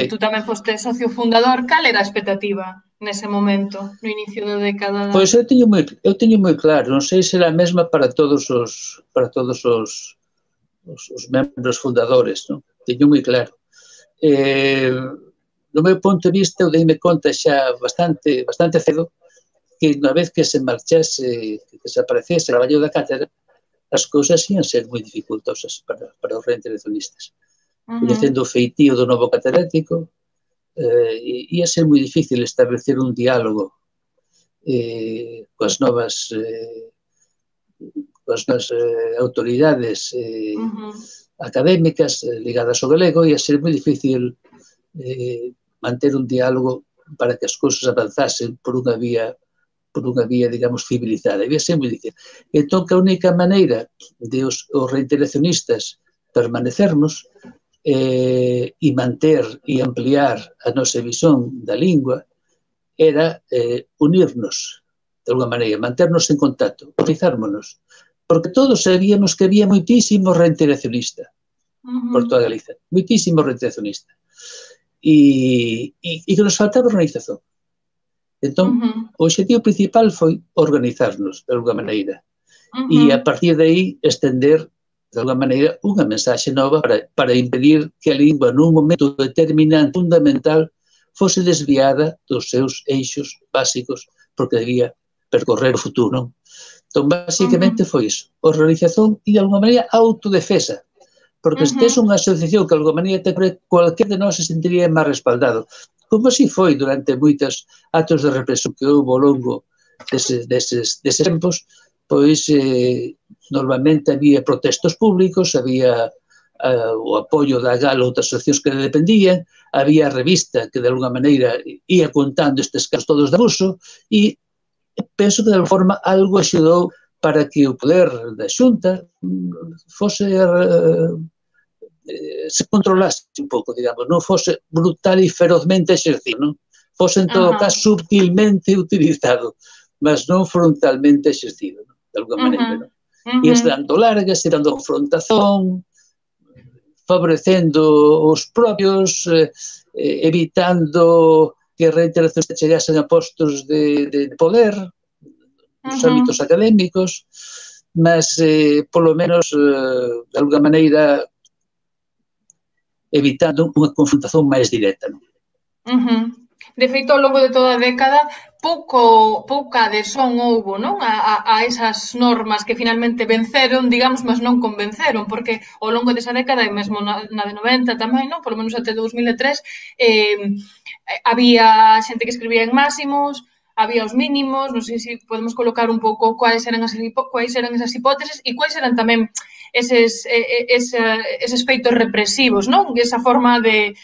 Tú tamén foste socio fundador. Cal era a expectativa nese momento, no inicio da década? Pois eu teño moi claro, non sei se era a mesma para todos os membros fundadores, non? Teño moi claro. Do meu ponto de vista, eu deime conta xa bastante cedo que unha vez que se marchase, que desaparecese o traballo da cátedra, as cousas ian ser moi dificultosas para os reintegracionistas. Coñecendo o feitío do novo catedrático, ia ser moi difícil establecer un diálogo coas novas autoridades académicas ligadas ao galego, ia ser moi difícil manter un diálogo para que as cousas avanzasen por unha vía, digamos, civilizada. Ia ser moi difícil. Entón, que a única maneira de os reintegracionistas permanecermos e manter e ampliar a nosa visión da lingua era unirnos, de alguma maneira, manternos en contacto, organizármonos, porque todos sabíamos que había moitísimo reintegracionista por toda Galicia, moitísimo reintegracionista, e que nos faltaba organización. Entón, o objetivo principal foi organizarnos, de alguma maneira, e a partir de aí estender, de alguma maneira, unha mensaxe nova para impedir que a lingua nun momento determinante, fundamental, fose desviada dos seus eixos básicos, porque debía percorrer o futuro, non? Entón, basicamente foi iso, organización e, de alguma maneira, autodefesa, porque se tes unha asociación que, de alguma maneira, cualquier de nós se sentiría máis respaldado, como así foi durante moitos actos de represión que houve ao longo deses tempos, pois normalmente había protestos públicos, había o apoio da GAL ou outras asociacións que dependían, había a revista que de alguna maneira ia contando estes casos todos de abuso e penso que de alguma forma algo axudou para que o poder da Xunta fose se controlase un pouco, digamos, non fose brutal e ferozmente exercido, non? Fose en todo caso subtilmente utilizado, mas non frontalmente exercido, non? De alguma maneira, non? E dando largas, e dando confrontación, favorecendo os propios, evitando que reintegracións chegasen a postos de poder nos ámbitos académicos, mas, polo menos, de alguna maneira, evitando unha confrontación máis directa. De feito, ao longo de toda a década, pouca adhesión houbo, non? A esas normas que finalmente venceron, digamos, mas non convenceron, porque ao longo desa década, e mesmo na de 90 tamén, non? Polo menos até 2003, había xente que escribía en máximos, había os mínimos, non sei se podemos colocar un pouco quais eran esas hipóteses e quais eran tamén eses feitos represivos, non? Esa forma de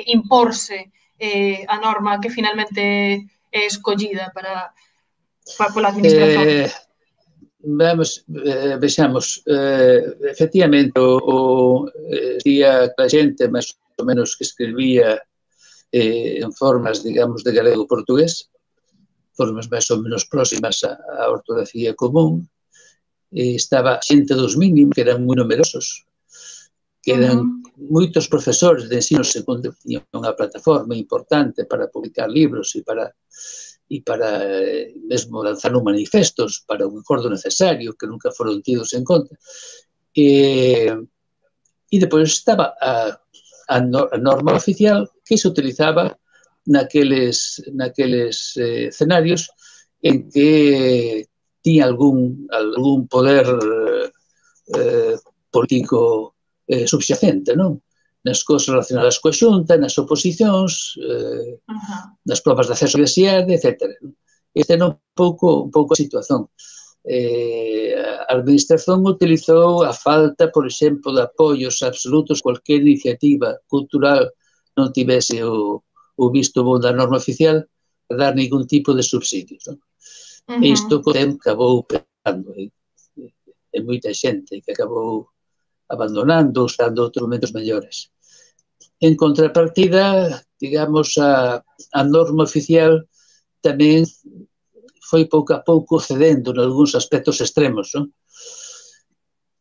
imporse a norma que finalmente é escollida pola administración. Vexamos, efectivamente, día a xente máis ou menos que escribía en formas, digamos, de galego-portugués, formas máis ou menos próximas á ortografía común, estaba xente dos mínimos, que eran moi numerosos, que eran moitos profesores de ensino secundario que tiñan unha plataforma importante para publicar libros e para mesmo lanzar un manifestos para un acordo necesario que nunca foron tidos en conta. E depois estaba a norma oficial que se utilizaba naqueles escenarios en que tiña algún poder político subxacente, non? Nas cousas relacionadas coa xunta, nas oposicións, nas probas de acceso á universidade, etc. Esta era un pouco a situación. A administración utilizou a falta, por exemplo, de apoios absolutos, cualquier iniciativa cultural non tivese o visto bo da norma oficial, a dar ningún tipo de subsidios. E isto acabou pegando en moita xente que acabou abandonando, usando outros momentos mellores. En contrapartida, digamos, a norma oficial tamén foi pouco a pouco cedendo en algúns aspectos extremos, non?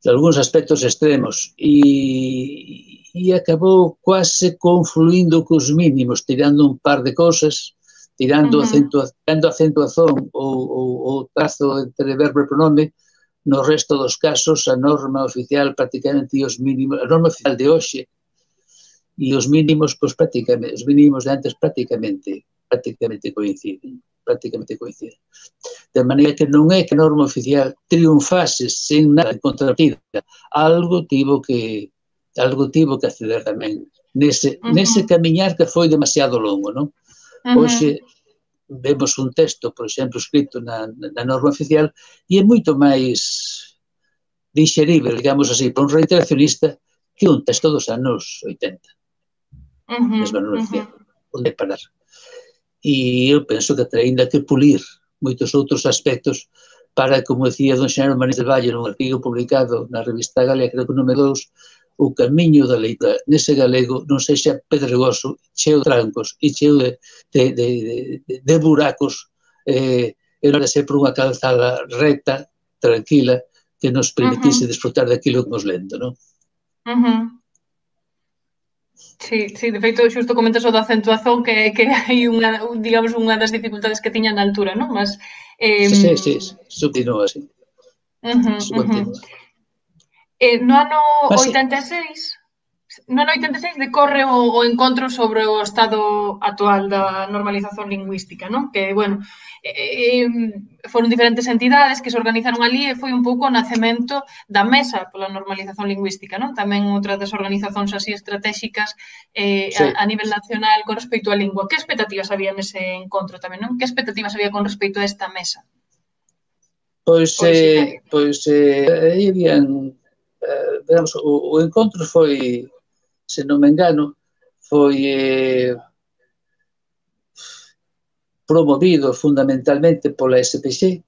En algúns aspectos extremos, e acabou quase confluindo cos mínimos, tirando un par de cousas, tirando acentuación ou trazo entre verbo e pronome. No resto dos casos, a norma oficial prácticamente e os mínimos, a norma oficial de hoxe e os mínimos, pois prácticamente, os mínimos de antes prácticamente coinciden. De maneira que non é que a norma oficial triunfase sen nada en contrapartida. Algo tivo que acceder tamén nese camiñar que foi demasiado longo, non? Hoxe vemos un texto, por exemplo, escrito na norma oficial e é moito máis digerible, digamos así, para un reiteracionista que un texto dos anos 80. Mesma norma oficial. Onde parar? E eu penso que ainda que pulir moitos outros aspectos para, como decía don Xenaro Manís del Valle nun artigo publicado na revista Galega, creo que no número 2, o camiño da leitura nese galego non sexa pedregoso, cheo de trancos e cheo de buracos, e non de ser por unha calzada recta, tranquila, que nos permitise disfrutar daquilo que nos lendo, non? Sí, de feito, xusto comentas o da acentuación que hai digamos, unha das dificultades que tiña na altura, non? Mas sí, subtinúa así. No ano 86 decorre o encontro sobre o estado actual da normalización lingüística, non? Que, bueno, foron diferentes entidades que se organizaron ali e foi un pouco o nacemento da Mesa pola Normalización Lingüística, non? Tamén outra das organizacións así estratégicas a nivel nacional con respecto á lingua. Que expectativas había nese encontro tamén, non? Que expectativas había con respecto a esta mesa? Pois aí habían, digamos, o encontro foi, se non me engano, foi promovido fundamentalmente pola SPC,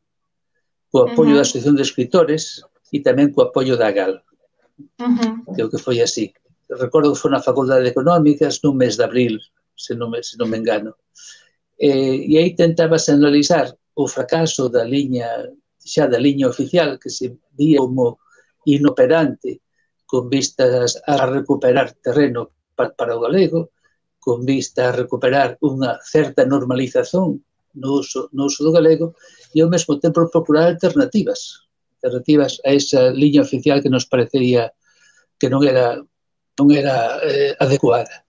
co apoio da Asociación de Escritores e tamén co apoio da GAL. Creo que foi así. Recordo que foi na Facultade de Económicas nun mes de abril, se non me engano. E aí tentábase analizar o fracaso da liña oficial que se vía como inoperante con vistas a recuperar terreno para o galego, con vista a recuperar unha certa normalización no uso do galego e ao mesmo tempo procurar alternativas a esa liña oficial que nos parecería que non era non era adecuada.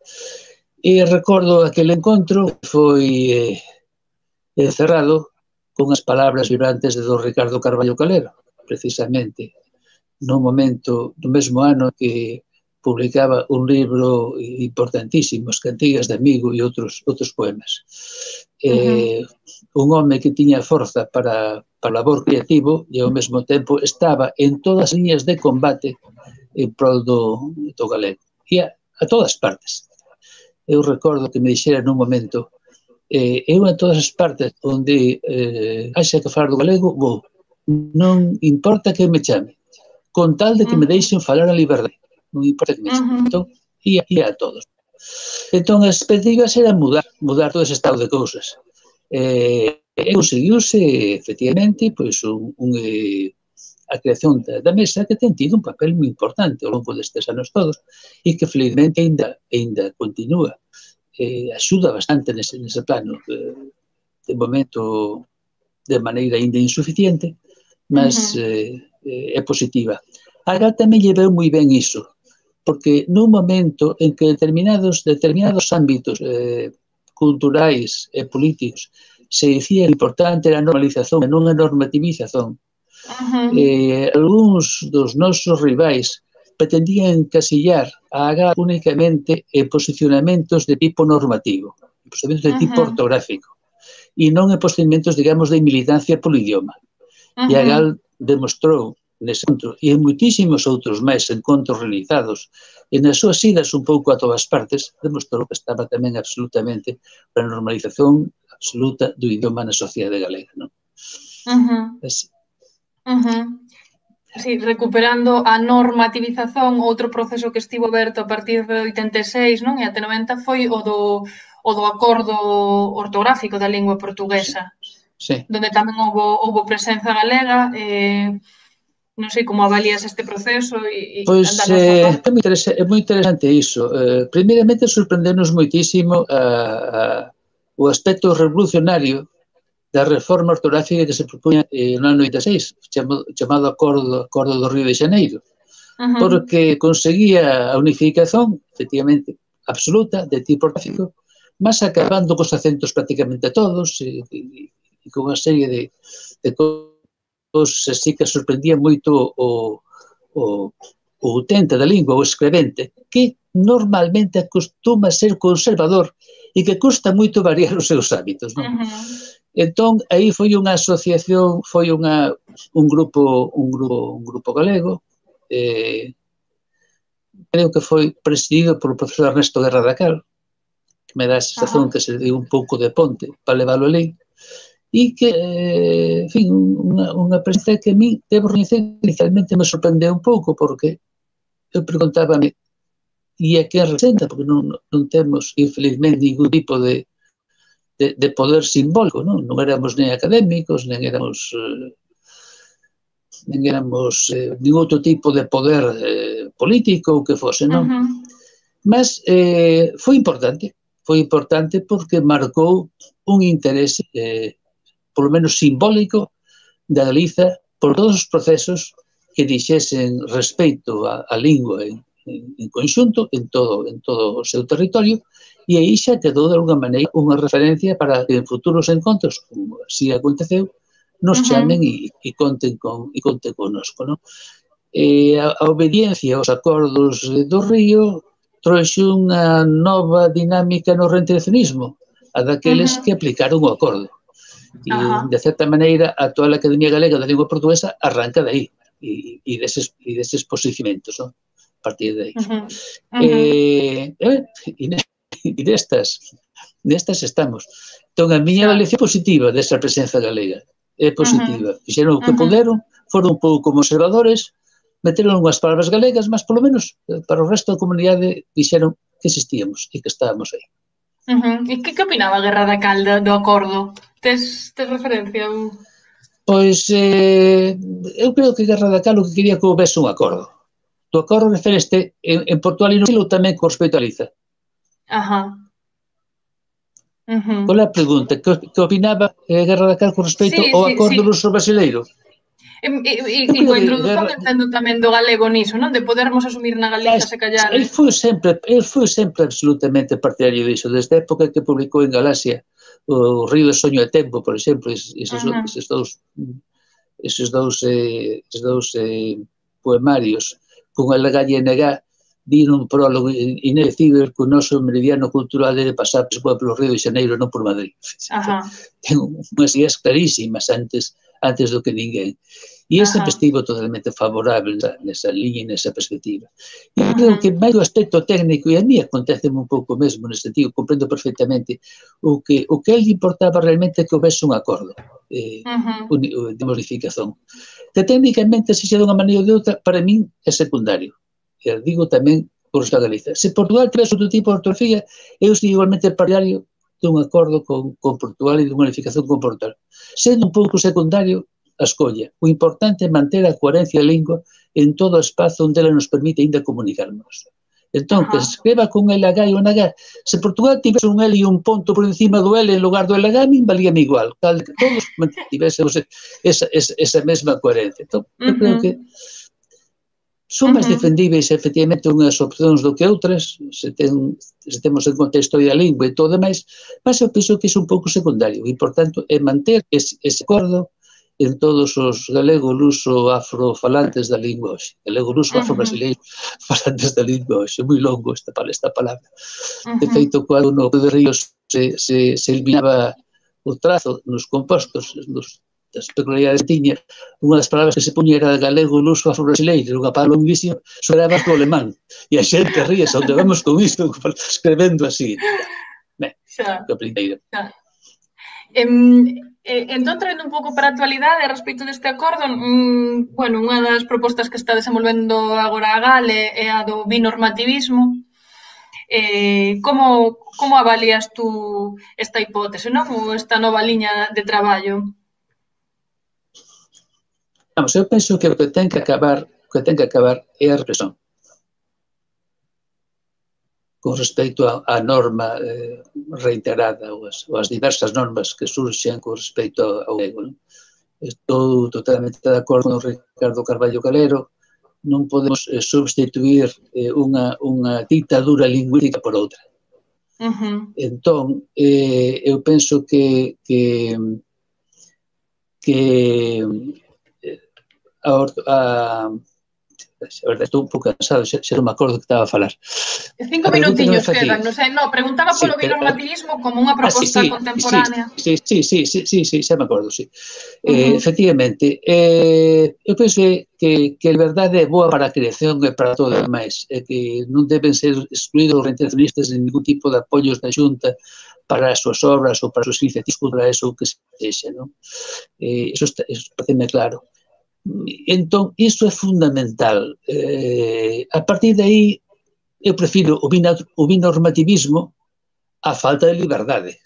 E recordo aquel encontro que foi cerrado con as palabras vibrantes de don Ricardo Carballo Calero, precisamente no momento, no mesmo ano que publicaba un libro importantísimo, As cantigas de amigo e outros poemas. Un home que tiña forza para labor creativo e ao mesmo tempo estaba en todas as líneas de combate en prol do galego. E a todas partes. Eu recordo que me dixera nun momento eu en todas as partes onde haxa que falar do galego vou. Non importa que me chame, con tal de que me deixen falar a liberdade. Non importa que me chame. Entón, ia a todos. Entón, as expectativas eran mudar todo ese estado de cousas. E conseguiuse, efectivamente, pois a creación da mesa que ten tido un papel moi importante ao longo destes anos todos e que felizmente ainda continúa. Axuda bastante nese plano. De momento, de maneira ainda insuficiente, mas é positiva. Agora tamén lle veu moi ben iso, porque nun momento en que determinados ámbitos culturais e políticos se dicía que o importante era a normalización e non a normativización, algúns dos nosos rivais pretendían encasillar a AGA únicamente en posicionamentos de tipo normativo, posicionamentos de tipo ortográfico, e non en posicionamentos, digamos, de militancia polo idioma. E a GAL demostrou nese encontro e en moitísimos outros máis encontros realizados e nas súas idas un pouco a todas partes demostrou que estaba tamén absolutamente para a normalización absoluta do idioma na sociedade galega, non? Así. Sí, recuperando a normativización, outro proceso que estivo aberto a partir de 86, non? E até 90 foi o do acordo ortográfico da lingua portuguesa. Sí. Donde tamén houbo presenza galega, non sei como avalías este proceso e pois é moi interesante iso. Primeiramente sorprendernos moitísimo o aspecto revolucionario da reforma ortográfica que se propuña no ano 86, chamado Acordo do Río de Xaneiro, porque conseguía a unificación, efectivamente, absoluta, de tipo ortográfico, mas acabando cos acentos prácticamente todos, e con unha serie de cousas así que sorprendía moito o utente da lingua, o escrevente, que normalmente acostuma ser conservador e que custa moito variar os seus hábitos, non? Entón, aí foi unha asociación, foi un grupo galego, creo que foi presidido polo profesor Ernesto Guerra da Cal, que me dá a sensación que se deu un pouco de ponte para leválo alí, e que, en fin, unha presencia que a mí, debo recoñecer, inicialmente me sorprendeu un pouco, porque eu preguntábame e a que representa, porque non temos, infelizmente, ningún tipo de poder simbólico, non éramos nem académicos, nen éramos nin outro tipo de poder político ou que fose, non? Mas foi importante porque marcou un interese, polo menos simbólico, da Galiza por todos os procesos que dixesen respeito á lingua en conxunto, en todo o seu territorio, e aí xa quedou de alguna maneira unha referencia para que en futuros encontros, como así aconteceu, nos chamen e conten connosco, non? A obediencia aos acordos do Río trouxe unha nova dinámica no reintegracionismo, a daqueles que aplicaron o acordo. E, de certa maneira, a actual Academia Galega da Lingua Portuguesa arranca de aí, e deses posicionamentos, non? A partir de aí. E nestas estamos. Entón, a miña avaliación positiva desa presenza galega é positiva. Fixeron o que puderon, foron un pouco conservadores, meteron unhas palabras galegas, mas polo menos para o resto da comunidade dixeron que existíamos e que estábamos aí. E que opinaba Guerra da Cal do acordo? Tes referencia? Pois eu creo que Guerra da Cal o que quería que houvese un acordo. O acordo refereste en Portugal e no Chile tamén con respecto a Galiza. Qual é a pregunta? Que opinaba Guerra da Cal con respecto ao acordo ruso-brasileiro? E coa introdución entendo tamén do galego niso, non? De podermos asumir na Galiza se callar. El foi sempre absolutamente partidario diso, desde a época que publicou en Galaxia o Río de Soño e Tempo, por exemplo, eses dous poemarios con el Gallenegá, di nun prólogo inedecible que o noso meridiano cultural debe pasar polo Río de Xaneiro, non por Madrid. Ten unhas ideas clarísimas antes do que ninguén. E sempre estivo totalmente favorable nesa liña e nesa perspectiva. E creo que máis do aspecto técnico, e a mí acontece un pouco mesmo nesse sentido, comprendo perfectamente o que ele importaba realmente que houvese un acordo de modificación. Que técnicamente, se xa de unha maneira ou de outra, para min é secundario. E digo tamén por esta Galiza. Se Portugal tivese outro tipo de ortografía, eu estou igualmente partidario dun acordo con Portugal e dunha unificación con Portugal. Sendo un pouco secundario a escolla. O importante é manter a coherencia da lingua en todo o espazo onde ela nos permite ainda comunicarnos. Entón, que se escriba con LH e un H. Se Portugal tivese un L e un ponto por encima do L en lugar do LH, a mí valíame igual. Que todos mantivésemos esa mesma coherencia. Entón, eu creo que son máis defendíveis, efectivamente, unhas opcións do que outras, se temos en conta a historia da lingua e todo demais, mas eu penso que é un pouco secundario e, por tanto, é manter ese acordo en todos os galego-luso afrofalantes da lingua hoxe. Galego-luso afro-brasileiro falantes da lingua hoxe. É moi longo esta palabra. De feito, cando no de Ríos se eliminaba o trazo nos compostos, das peculiaridades que tiña, unha das palabras que se puña era galego, luso, afro-brasileiro, unha palabra longuísima, sonaba o alemán. E a xente ríase, onde vamos con isto, escrevendo así. Ben, que primeiro. Entón, traendo un pouco para a actualidade a respecto deste acordo, bueno, unha das propostas que está desenvolvendo agora a GALE é a do binormativismo. Como avalias tú esta hipótese, non? Ou esta nova liña de traballo? Vamos, eu penso que o que ten que acabar é a represión. Con respecto á norma reiterada ou as diversas normas que surxen con respecto ao galego. Estou totalmente de acordo con Ricardo Carballo Calero, non podemos substituir unha ditadura lingüística por outra. Entón, eu penso que a verdade, estou un pouco cansado, xa non me acordo que estaba a falar. 5 minutiños quedan, non sei, preguntaba polo binormativismo como unha proposta contemporánea. Sí, xa me acordo, sí. Efectivamente, eu penso que a verdade é boa para a creación e para todo o demais, é que non deben ser excluídos os reintegracionistas de ningún tipo de apoios da Xunta para as súas obras ou para as súas iniciativas culturais ou que sexa, non? Iso parece-me claro. Entón, iso é fundamental. A partir de aí, eu prefiro o binormativismo á falta de liberdade.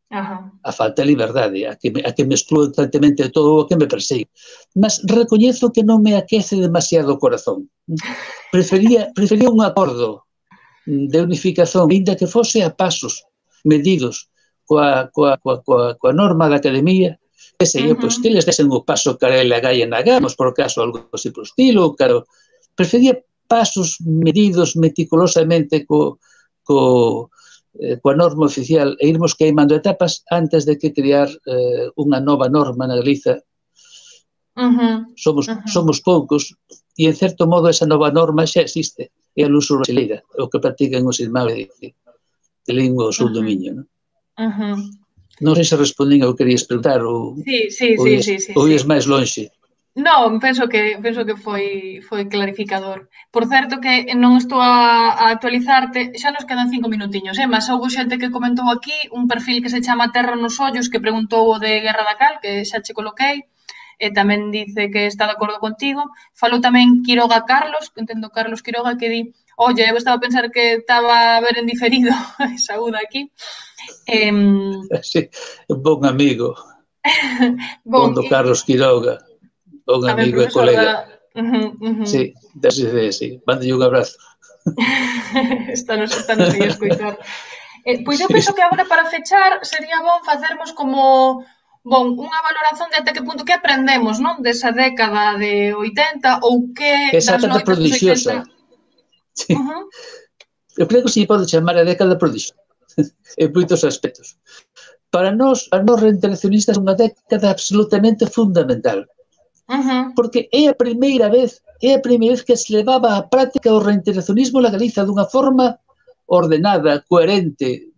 A falta de liberdade, a que me exclúe constantemente todo o que me persigue. Mas recoñezo que non me aquece demasiado o corazón. Prefería un acordo de unificación, ainda que fose a pasos medidos coa norma da Academia, que sería, pois, que les desen o paso cara a LH e NH, por caso, algo así por estilo, claro. Prefería pasos medidos meticulosamente coa norma oficial e irmos queimando etapas antes de que crear unha nova norma na Galiza. Somos poucos e, en certo modo, esa nova norma xa existe. É a luso brasileira, o que practican os irmáns de lingua ao sul do Miño, non? Non sei se respondín ao que querías preguntar ou ias máis lonxe. Non, penso que foi clarificador. Por certo que non estou a actualizarte, xa nos quedan 5 minutiños, mas houve xente que comentou aquí un perfil que se chama Terra nos Ollos que preguntou o de Guerra da Cal, que xa che coloquei, e tamén dice que está de acordo contigo. Falou tamén Quiroga Carlos, que entendo Carlos Quiroga, que di: oye, eu estaba a pensar que estaba a ver en diferido, saúda aquí. Sí, un bon amigo, bon do Carlos Quiroga, bon amigo e colega. Sí, mándalle un abrazo. Estános aí a escoitar. Pois eu penso que agora para fechar sería bon facermos como Bon, unha valoración de até que punto que aprendemos, non? Desa década de 80 ou que Esa das década loitas dos prodigiosa. 80... Sí. Eu creo que se pode chamar a década prodigiosa en moitos aspectos. Para nós reintegracionistas, é unha década absolutamente fundamental. Porque é a primeira vez que se levaba á práctica o reintegracionismo na Galiza dunha forma ordenada, coherente,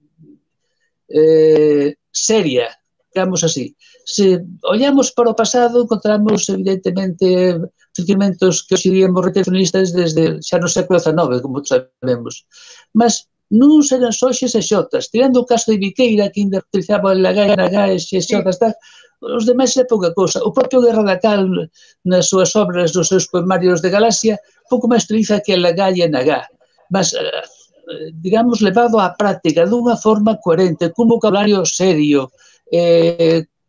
seria, digamos así. Se olhamos para o pasado, encontramos, evidentemente, sentimentos que hoxe diríamos reintegracionistas desde xa no século XIX, como sabemos. Mas non eran só xes e xotas. Tirando o caso de Viqueira, que ainda utilizaba lagá, nagá e xes e xotas, os demais é pouca cosa. O propio Guerra da Cal, nas súas obras, nos seus poemarios de Galaxia, pouco máis utiliza que lagá e nagá. Mas digamos, levado á práctica dunha forma coherente, cun vocabulario serio,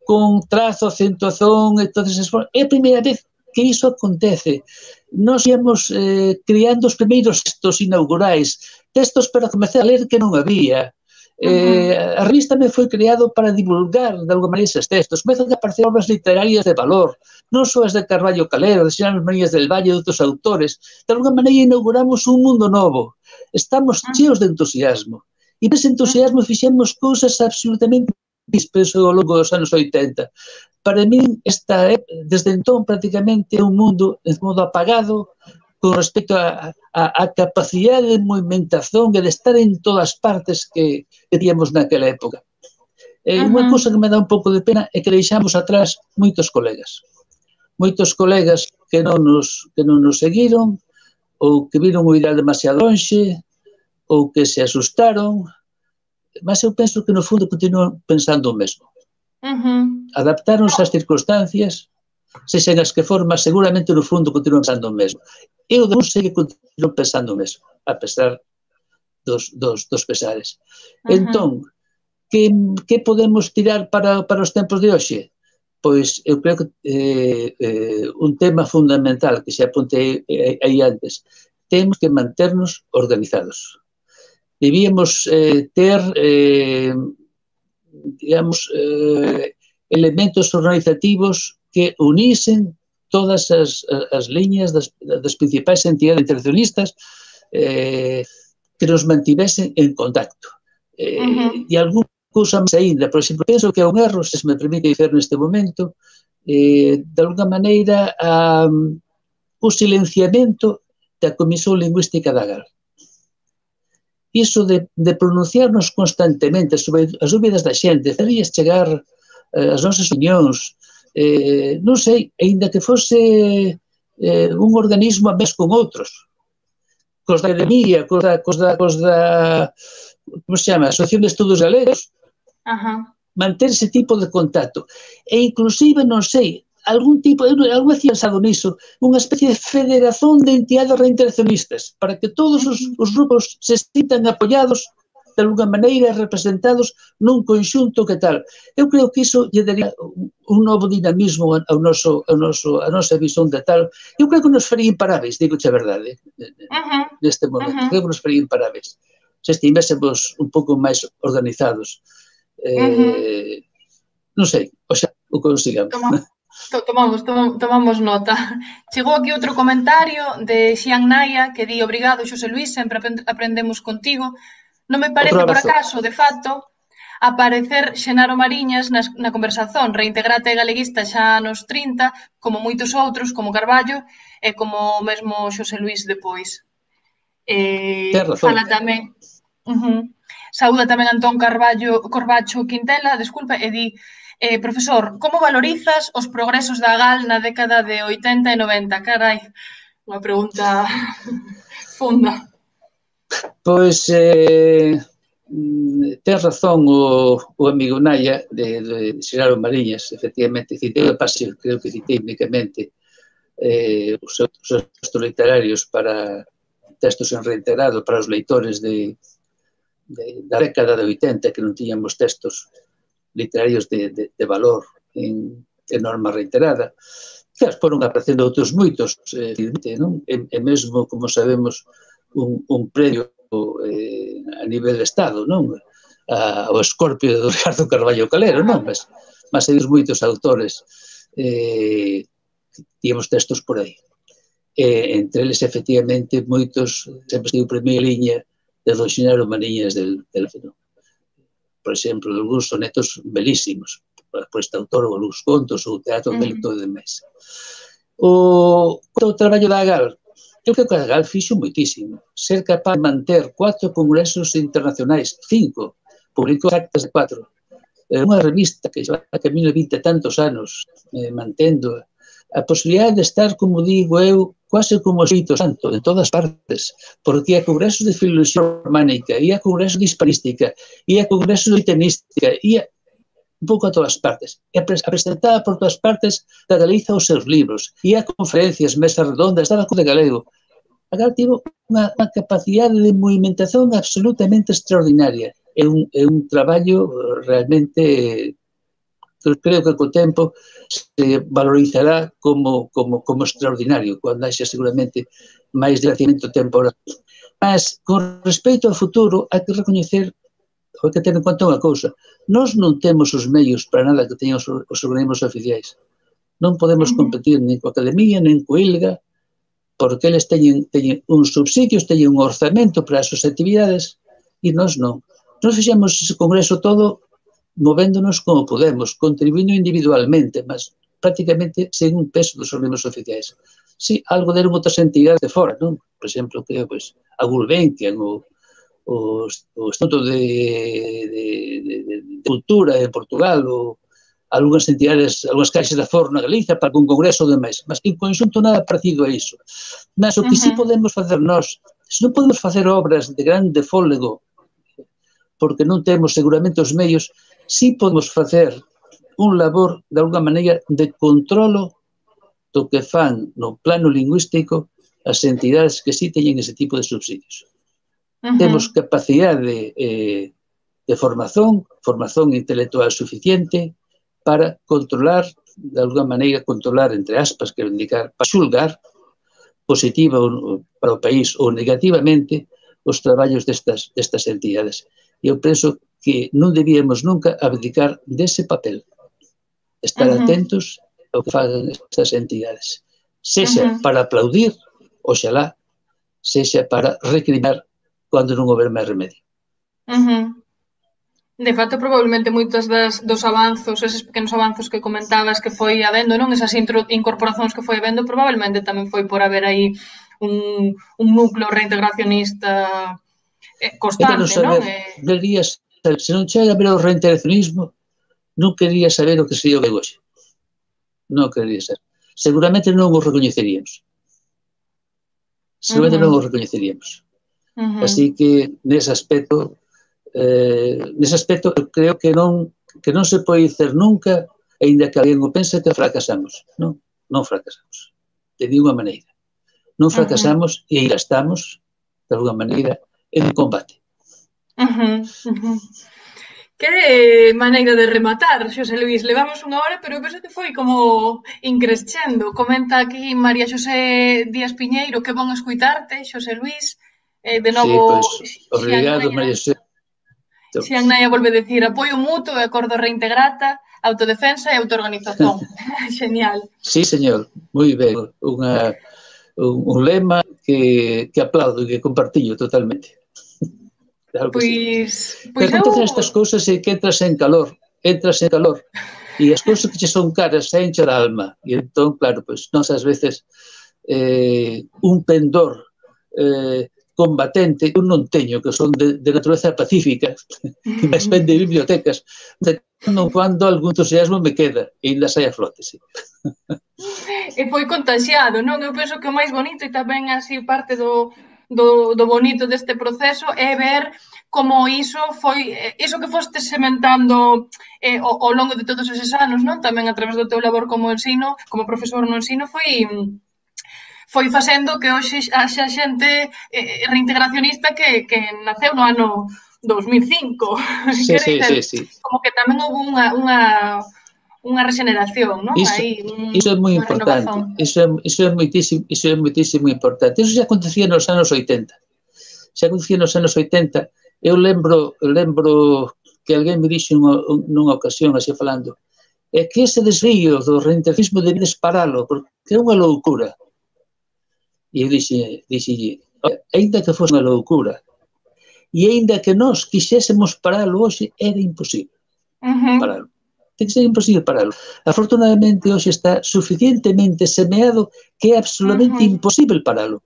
con trazo, acentuación, é a primeira vez que iso acontece. Nós íamos criando os primeiros textos inaugurais, textos para comezar a ler que non había. A revista me foi creado para divulgar de alguma maneira eses textos. Comezan a aparecer obras literarias de valor, non só as de Carballo Calero, de Xerónimo Maríñas del Valle e outros autores. De alguma maneira inauguramos un mundo novo. Estamos cheos de entusiasmo. E nese entusiasmo fixemos cousas absolutamente dispenso ao longo dos anos 80. Para min, desde entón, prácticamente é un mundo en modo apagado con respecto a capacidade de movimentación e de estar en todas partes que teníamos naquela época. Unha cousa que me dá un pouco de pena é que deixamos atrás moitos colegas que non nos seguiron, ou que viron o ideal demasiado lonxe, ou que se asustaron, mas eu penso que no fundo continuan pensando o mesmo. Adaptáronse ás circunstancias, sexan as que forman, seguramente no fundo continuan pensando o mesmo. Eu non sei que continuan pensando o mesmo, a pesar dos pesares. Entón, que podemos tirar para os tempos de hoxe? Pois eu creo que un tema fundamental que se apunte aí antes, temos que manternos organizados. Debíamos ter, digamos, elementos organizativos que unisen todas as liñas das principais entidades internacionalistas que nos mantivesen en contacto. E algún cousa máis ainda, por exemplo, penso que é un erro, se me permite dizer neste momento, de alguna maneira o silenciamento da Comisión Lingüística da GAL. Iso de pronunciarnos constantemente sobre as dúbidas da xente, farías chegar as nosas opinións, non sei, ainda que fose un organismo a mes con outros, cos da Academia, cos da como se chama, Asociación de Estudos Galegos, manter ese tipo de contacto. E inclusive, non sei, algún tipo, algo he pensado niso, unha especie de federación de entidades reintegracionistas, para que todos os grupos se sintan apoiados, de alguna maneira representados nun conxunto que tal. Eu creo que iso lle daría un novo dinamismo a nosa visión de tal. Eu creo que nos faría imparáveis, digo-che a verdade, neste momento. Creo que nos faría imparáveis. Se estivésemos un pouco máis organizados. Non sei, o consigamos. Tomamos nota. Chegou aquí outro comentario de Xian Naya que di: obrigado, Xosé Luís, sempre aprendemos contigo. Non me parece por acaso, de facto, aparecer Xenaro Mariñas na conversación. Reintegrate galeguista xa nos 30, como moitos outros, como Carballo e como mesmo Xosé Luís depois. Fala tamén... Saúda tamén Antón Corbacho Quintela, desculpa, e di: profesor, como valorizas os progresos da GAL na década de 80 e 90? Carai, unha pregunta funda. Pois, ten razón o amigo Naya de Xenaro Mariñas, efectivamente, citei a página, creo que citei únicamente os textos literarios para textos en reintegrado para os leitores da década de 80, que non tiñamos textos literarios de valor en norma reiterada. Que foron aparecendo outros moitos, e mesmo, como sabemos, un premio a nivel de Estado, non? O Escorpio de Ricardo Carballo Calero, non? Mas mas hai moitos autores tíamos textos por aí. Entre eles, efectivamente, moitos, sempre estive en primeira liña de don Xenaro Mariñas del Fenón. Por exemplo, algúns sonetos belísimos, por este autor, ou algúns contos, ou teatro bélico de Mesa. O traballo da Agal, eu creo que a Agal fixo moitísimo. Ser capaz de manter 4 congresos internacionais, 5, publicou actas de 4. Unha revista que xa camino 20 e tantos anos mantendo a posibilidade de estar, como digo eu, quase como Espírito Santo, en todas partes, porque ia a congresos de filoloxía románica, ia a congresos de hispanística, ia a congresos de litenística, ia un pouco a todas partes. E presentaba por todas partes da Galiza os seus libros, ia a conferencias, mesas redondas, daba co de galego. Agora tivo unha capacidade de movimentación absolutamente extraordinaria. É un traballo realmente, creo que co tempo se valorizará como extraordinario, cando haxa seguramente máis dilaciamento temporal. Mas, con respecto ao futuro, hai que recoñecer, hai que ter en conta unha cousa. Nós non temos os medios para nada que teñan os organismos oficiais. Non podemos competir nin coa Academia, nin coa ILGA, porque eles teñen uns subsidios, teñen un orzamento para as súas actividades, e nós non. Nós fixemos ese congreso todo movéndonos como podemos, contribuindo individualmente, mas prácticamente sen un peso dos organismos oficiais. Si, algo deron outras entidades de fora, non? Por exemplo, creo, a Gulbenkian, o Instituto de Cultura en Portugal, ou algunhas entidades, algunhas caixas de foro na Galiza para un congreso de máis, mas en conxunto nada parecido a iso. Mas o que si podemos facer nós, se non podemos facer obras de grande fólego, porque non temos seguramente os medios, si podemos facer un labor, de alguna maneira, de controlo do que fan no plano lingüístico as entidades que si teñen ese tipo de subsidios. Temos capacidade de formación intelectual suficiente para controlar, de alguna maneira, controlar, entre aspas, quero indicar, para xulgar positiva para o país ou negativamente os traballos destas entidades. Eu penso que non debíamos nunca abdicar dese papel, estar atentos ao que fagan estas entidades, sexa para aplaudir, oxalá, sexa para recriminar cando non houber máis remedio. De facto, probablemente moitos dos avanzos, eses pequenos avanzos que comentabas que foi habendo, non? Esas incorporacións que foi habendo, probablemente tamén foi por haber aí un núcleo reintegracionista constante, non? Se non chega a ver o reintegracionismo, non quería saber o que sería o hoxe. Non quería ser. Seguramente non o recoñeceríamos. Así que, nese aspecto, creo que non se pode dizer nunca, aínda que alguén o pense, que fracasamos. Non fracasamos. De ninguna maneira. Non fracasamos e ainda estamos, de alguna maneira, en combate. Que maneira de rematar, Xosé Luís. Levamos unha hora, pero penso que foi como increscendo. Comenta aquí María Xosé Díaz Piñeiro, que bon escuitarte, Xosé Luís. De novo, obrigado, María Xosé. Xian Naia volve a decir apoio mutuo e acordo reintegrata, autodefensa e autoorganización. Genial. Sí, señor, moi ben. Un lema que aplaudo e que compartillo totalmente. Claro que sí. Pero acontecen estas cousas e que entras en calor, e as cousas que che son caras se enche da alma, e entón, claro, nós ás veces un pendor combatente, eu non teño, que son de natureza pacífica, que me ven de bibliotecas, de cando algún entusiasmo me queda, e ainda sai a flote, sí. E foi contaxiado, non? Eu penso que o máis bonito e tamén así parte do bonito deste proceso é ver como iso foi, iso que foste sementando ao longo de todos eses anos, non? Tamén a través do teu labor como ensino, como profesor no ensino, foi facendo que hoxe haxa xente reintegracionista que naceu no ano 2005. Sí. Como que tamén houve unha regeneración, non? Iso é moi importante. Iso é moitísimo importante. Iso xa acontecía nos anos 80. Eu lembro que alguén me dixo nunha ocasión, así falando, é que ese desvío do reintegralismo debedes paralo, porque é unha loucura. E eu dixelle, ainda que fose unha loucura, e ainda que nós quixésemos paralo hoxe, era imposible paralo. Ten que ser imposible paralo. Afortunadamente, hoxe está suficientemente semeado que é absolutamente imposible paralo.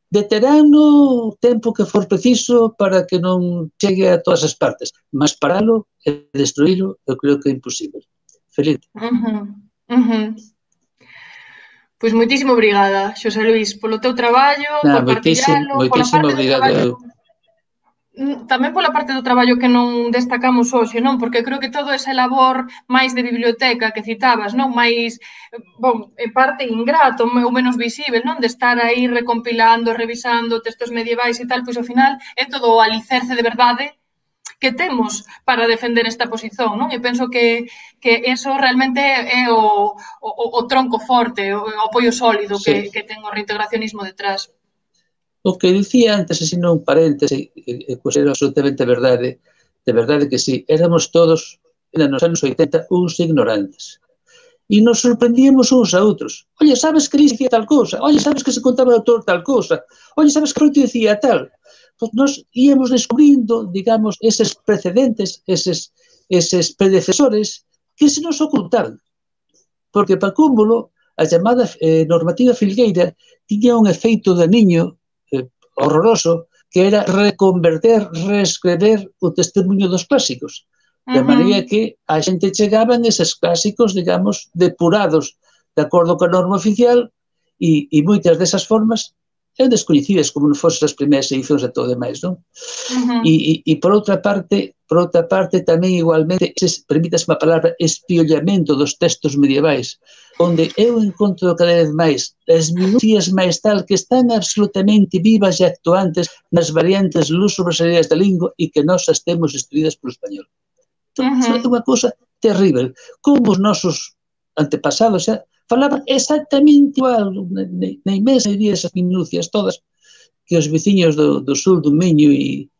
Deterano o tempo que for preciso para que non chegue a todas as partes, mas paralo e destruílo eu creo que é imposible. Feliz. Pois moitísimo obrigada, Xosé Luís, polo teu traballo, por partillalo, pola parte do traballo... Tamén pola parte do traballo que non destacamos hoxe, non? Porque creo que todo ese labor máis de biblioteca que citabas, non? Máis, bon, parte ingrato, ou menos visível, non? De estar aí recompilando, revisando textos medievais e tal, pois ao final é todo o alicerce de verdade que temos para defender esta posición, non? E penso que eso realmente é o tronco forte, o apoio sólido que ten o reintegracionismo detrás. O que dicía antes, así non paréntese, pois era absolutamente verdade, de verdade que sí, éramos todos, nos anos 80, uns ignorantes. E nos sorprendíamos uns a outros. Oye, sabes que li dicía tal cousa? Oye, sabes que se contaba o autor tal cousa? Oye, sabes que Froito dicía tal? Pois nos íamos descubrindo, digamos, eses precedentes, eses predecesores que se nos ocultaron. Porque, para cúmulo, a chamada normativa filgueira tiña un efeito daniño horroroso, que era reconverter, reescrever o testemunho dos clásicos. De maneira que a xente chegaban eses clásicos, digamos, depurados de acordo coa norma oficial e moitas desas formas eran descoñecidas como non fosen as primeiras edicións e todo demais, non? E por outra parte tamén igualmente, permítase a palabra, espiollamento dos textos medievais, onde eu encontro cada vez máis as minucias máis tal que están absolutamente vivas e actuantes nas variantes luso-brasileiras da lingua e que nós as temos destruídas polo español. É unha cousa terrible. Como os nosos antepasados xa falaban exactamente igual, na inmensa maioría desas minucias todas, que os veciños do sul do Miño e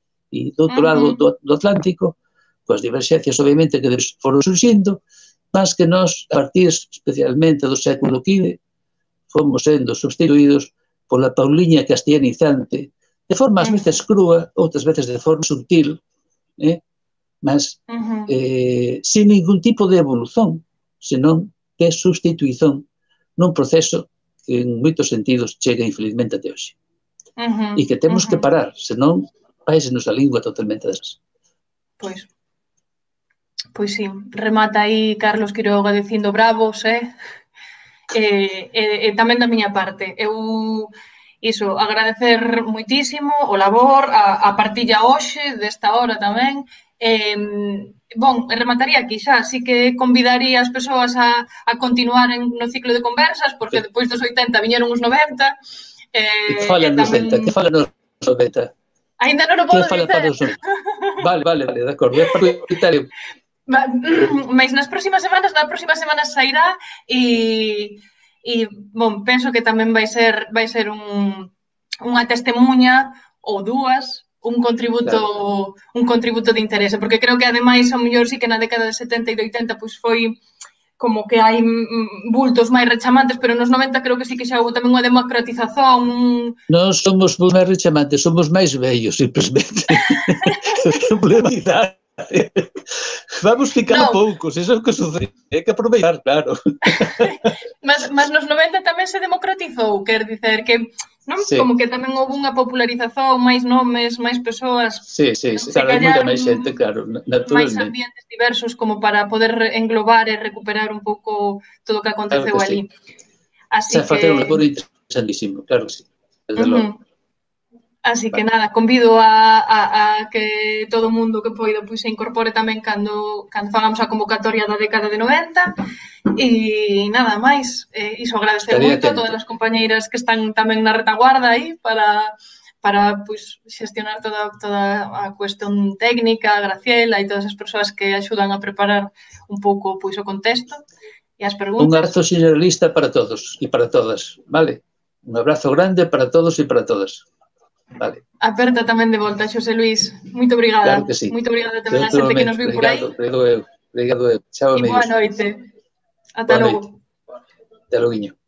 do outro lado do Atlántico, coas diverxencias, obviamente, que foron surxindo, mas que nós, a partir especialmente do século XV, fomos sendo substituídos pola pauliña castellanizante, de forma ás veces crúa, outras veces de forma sutil, mas sin ningún tipo de evolución, senón de sustituición nun proceso que en moitos sentidos chega infelizmente até hoxe. E que temos que parar, senón vaise-nos a lingua totalmente desas. Pois sí, remata aí Carlos Quiroga dicindo bravos, e tamén da miña parte. Eu, iso, agradecer moitísimo o labor, a partilla hoxe, desta hora tamén. Bon, remataría aquí xa, así que convidaría as persoas a continuar no ciclo de conversas, porque depois dos 80 viñeron os 90. Que falan nos 90, que falan nos 90. Ainda non o podo dizer. Vale, de acordo, é prioritario. Mas na próximas semanas sairá e bon, penso que tamén vai ser unha testemunha ou dúas, un contributo de interese, porque creo que ademais ao mellor sí que na década de 70 e de 80 pois foi como que hai bultos máis rechamantes, pero nos 90 creo que sí que xa houve tamén unha democratización. Non somos máis rechamantes, somos máis vellos, simplesmente. Problemidade. Vamos ficando poucos, iso é o que sucede, hai que aproveitar, claro. Mas nos 90 tamén se democratizou, quer dicer que, non? Como que tamén houve unha popularización, máis nomes, máis persoas. Sí, claro, hai moita máis xente, claro, naturalmente. Máis ambientes diversos como para poder englobar e recuperar un pouco todo o que aconteceu ali. Así que... facer un labor interesantísimo, claro que sí, desde logo. Así que nada, convido a que todo o mundo que poida se incorpore tamén cando fagamos a convocatoria da década de 90 e nada máis. Iso agradecer moito a todas as compañeiras que están tamén na retaguarda aí para xestionar toda a cuestión técnica, a Graciela e todas as persoas que axudan a preparar un pouco o contexto e as preguntas. Un abrazo generalista para todos e para todas, vale? Un abrazo grande para todos e para todas. Vale. Aperta tamén de volta, Xosé Luís. Moito obrigada. Claro que sí. Moito obrigada tamén a xente que nos viu por aí. Obrigado eu. Chao, amigos. E boa noite. Ata Boa logo. noite. Até logo.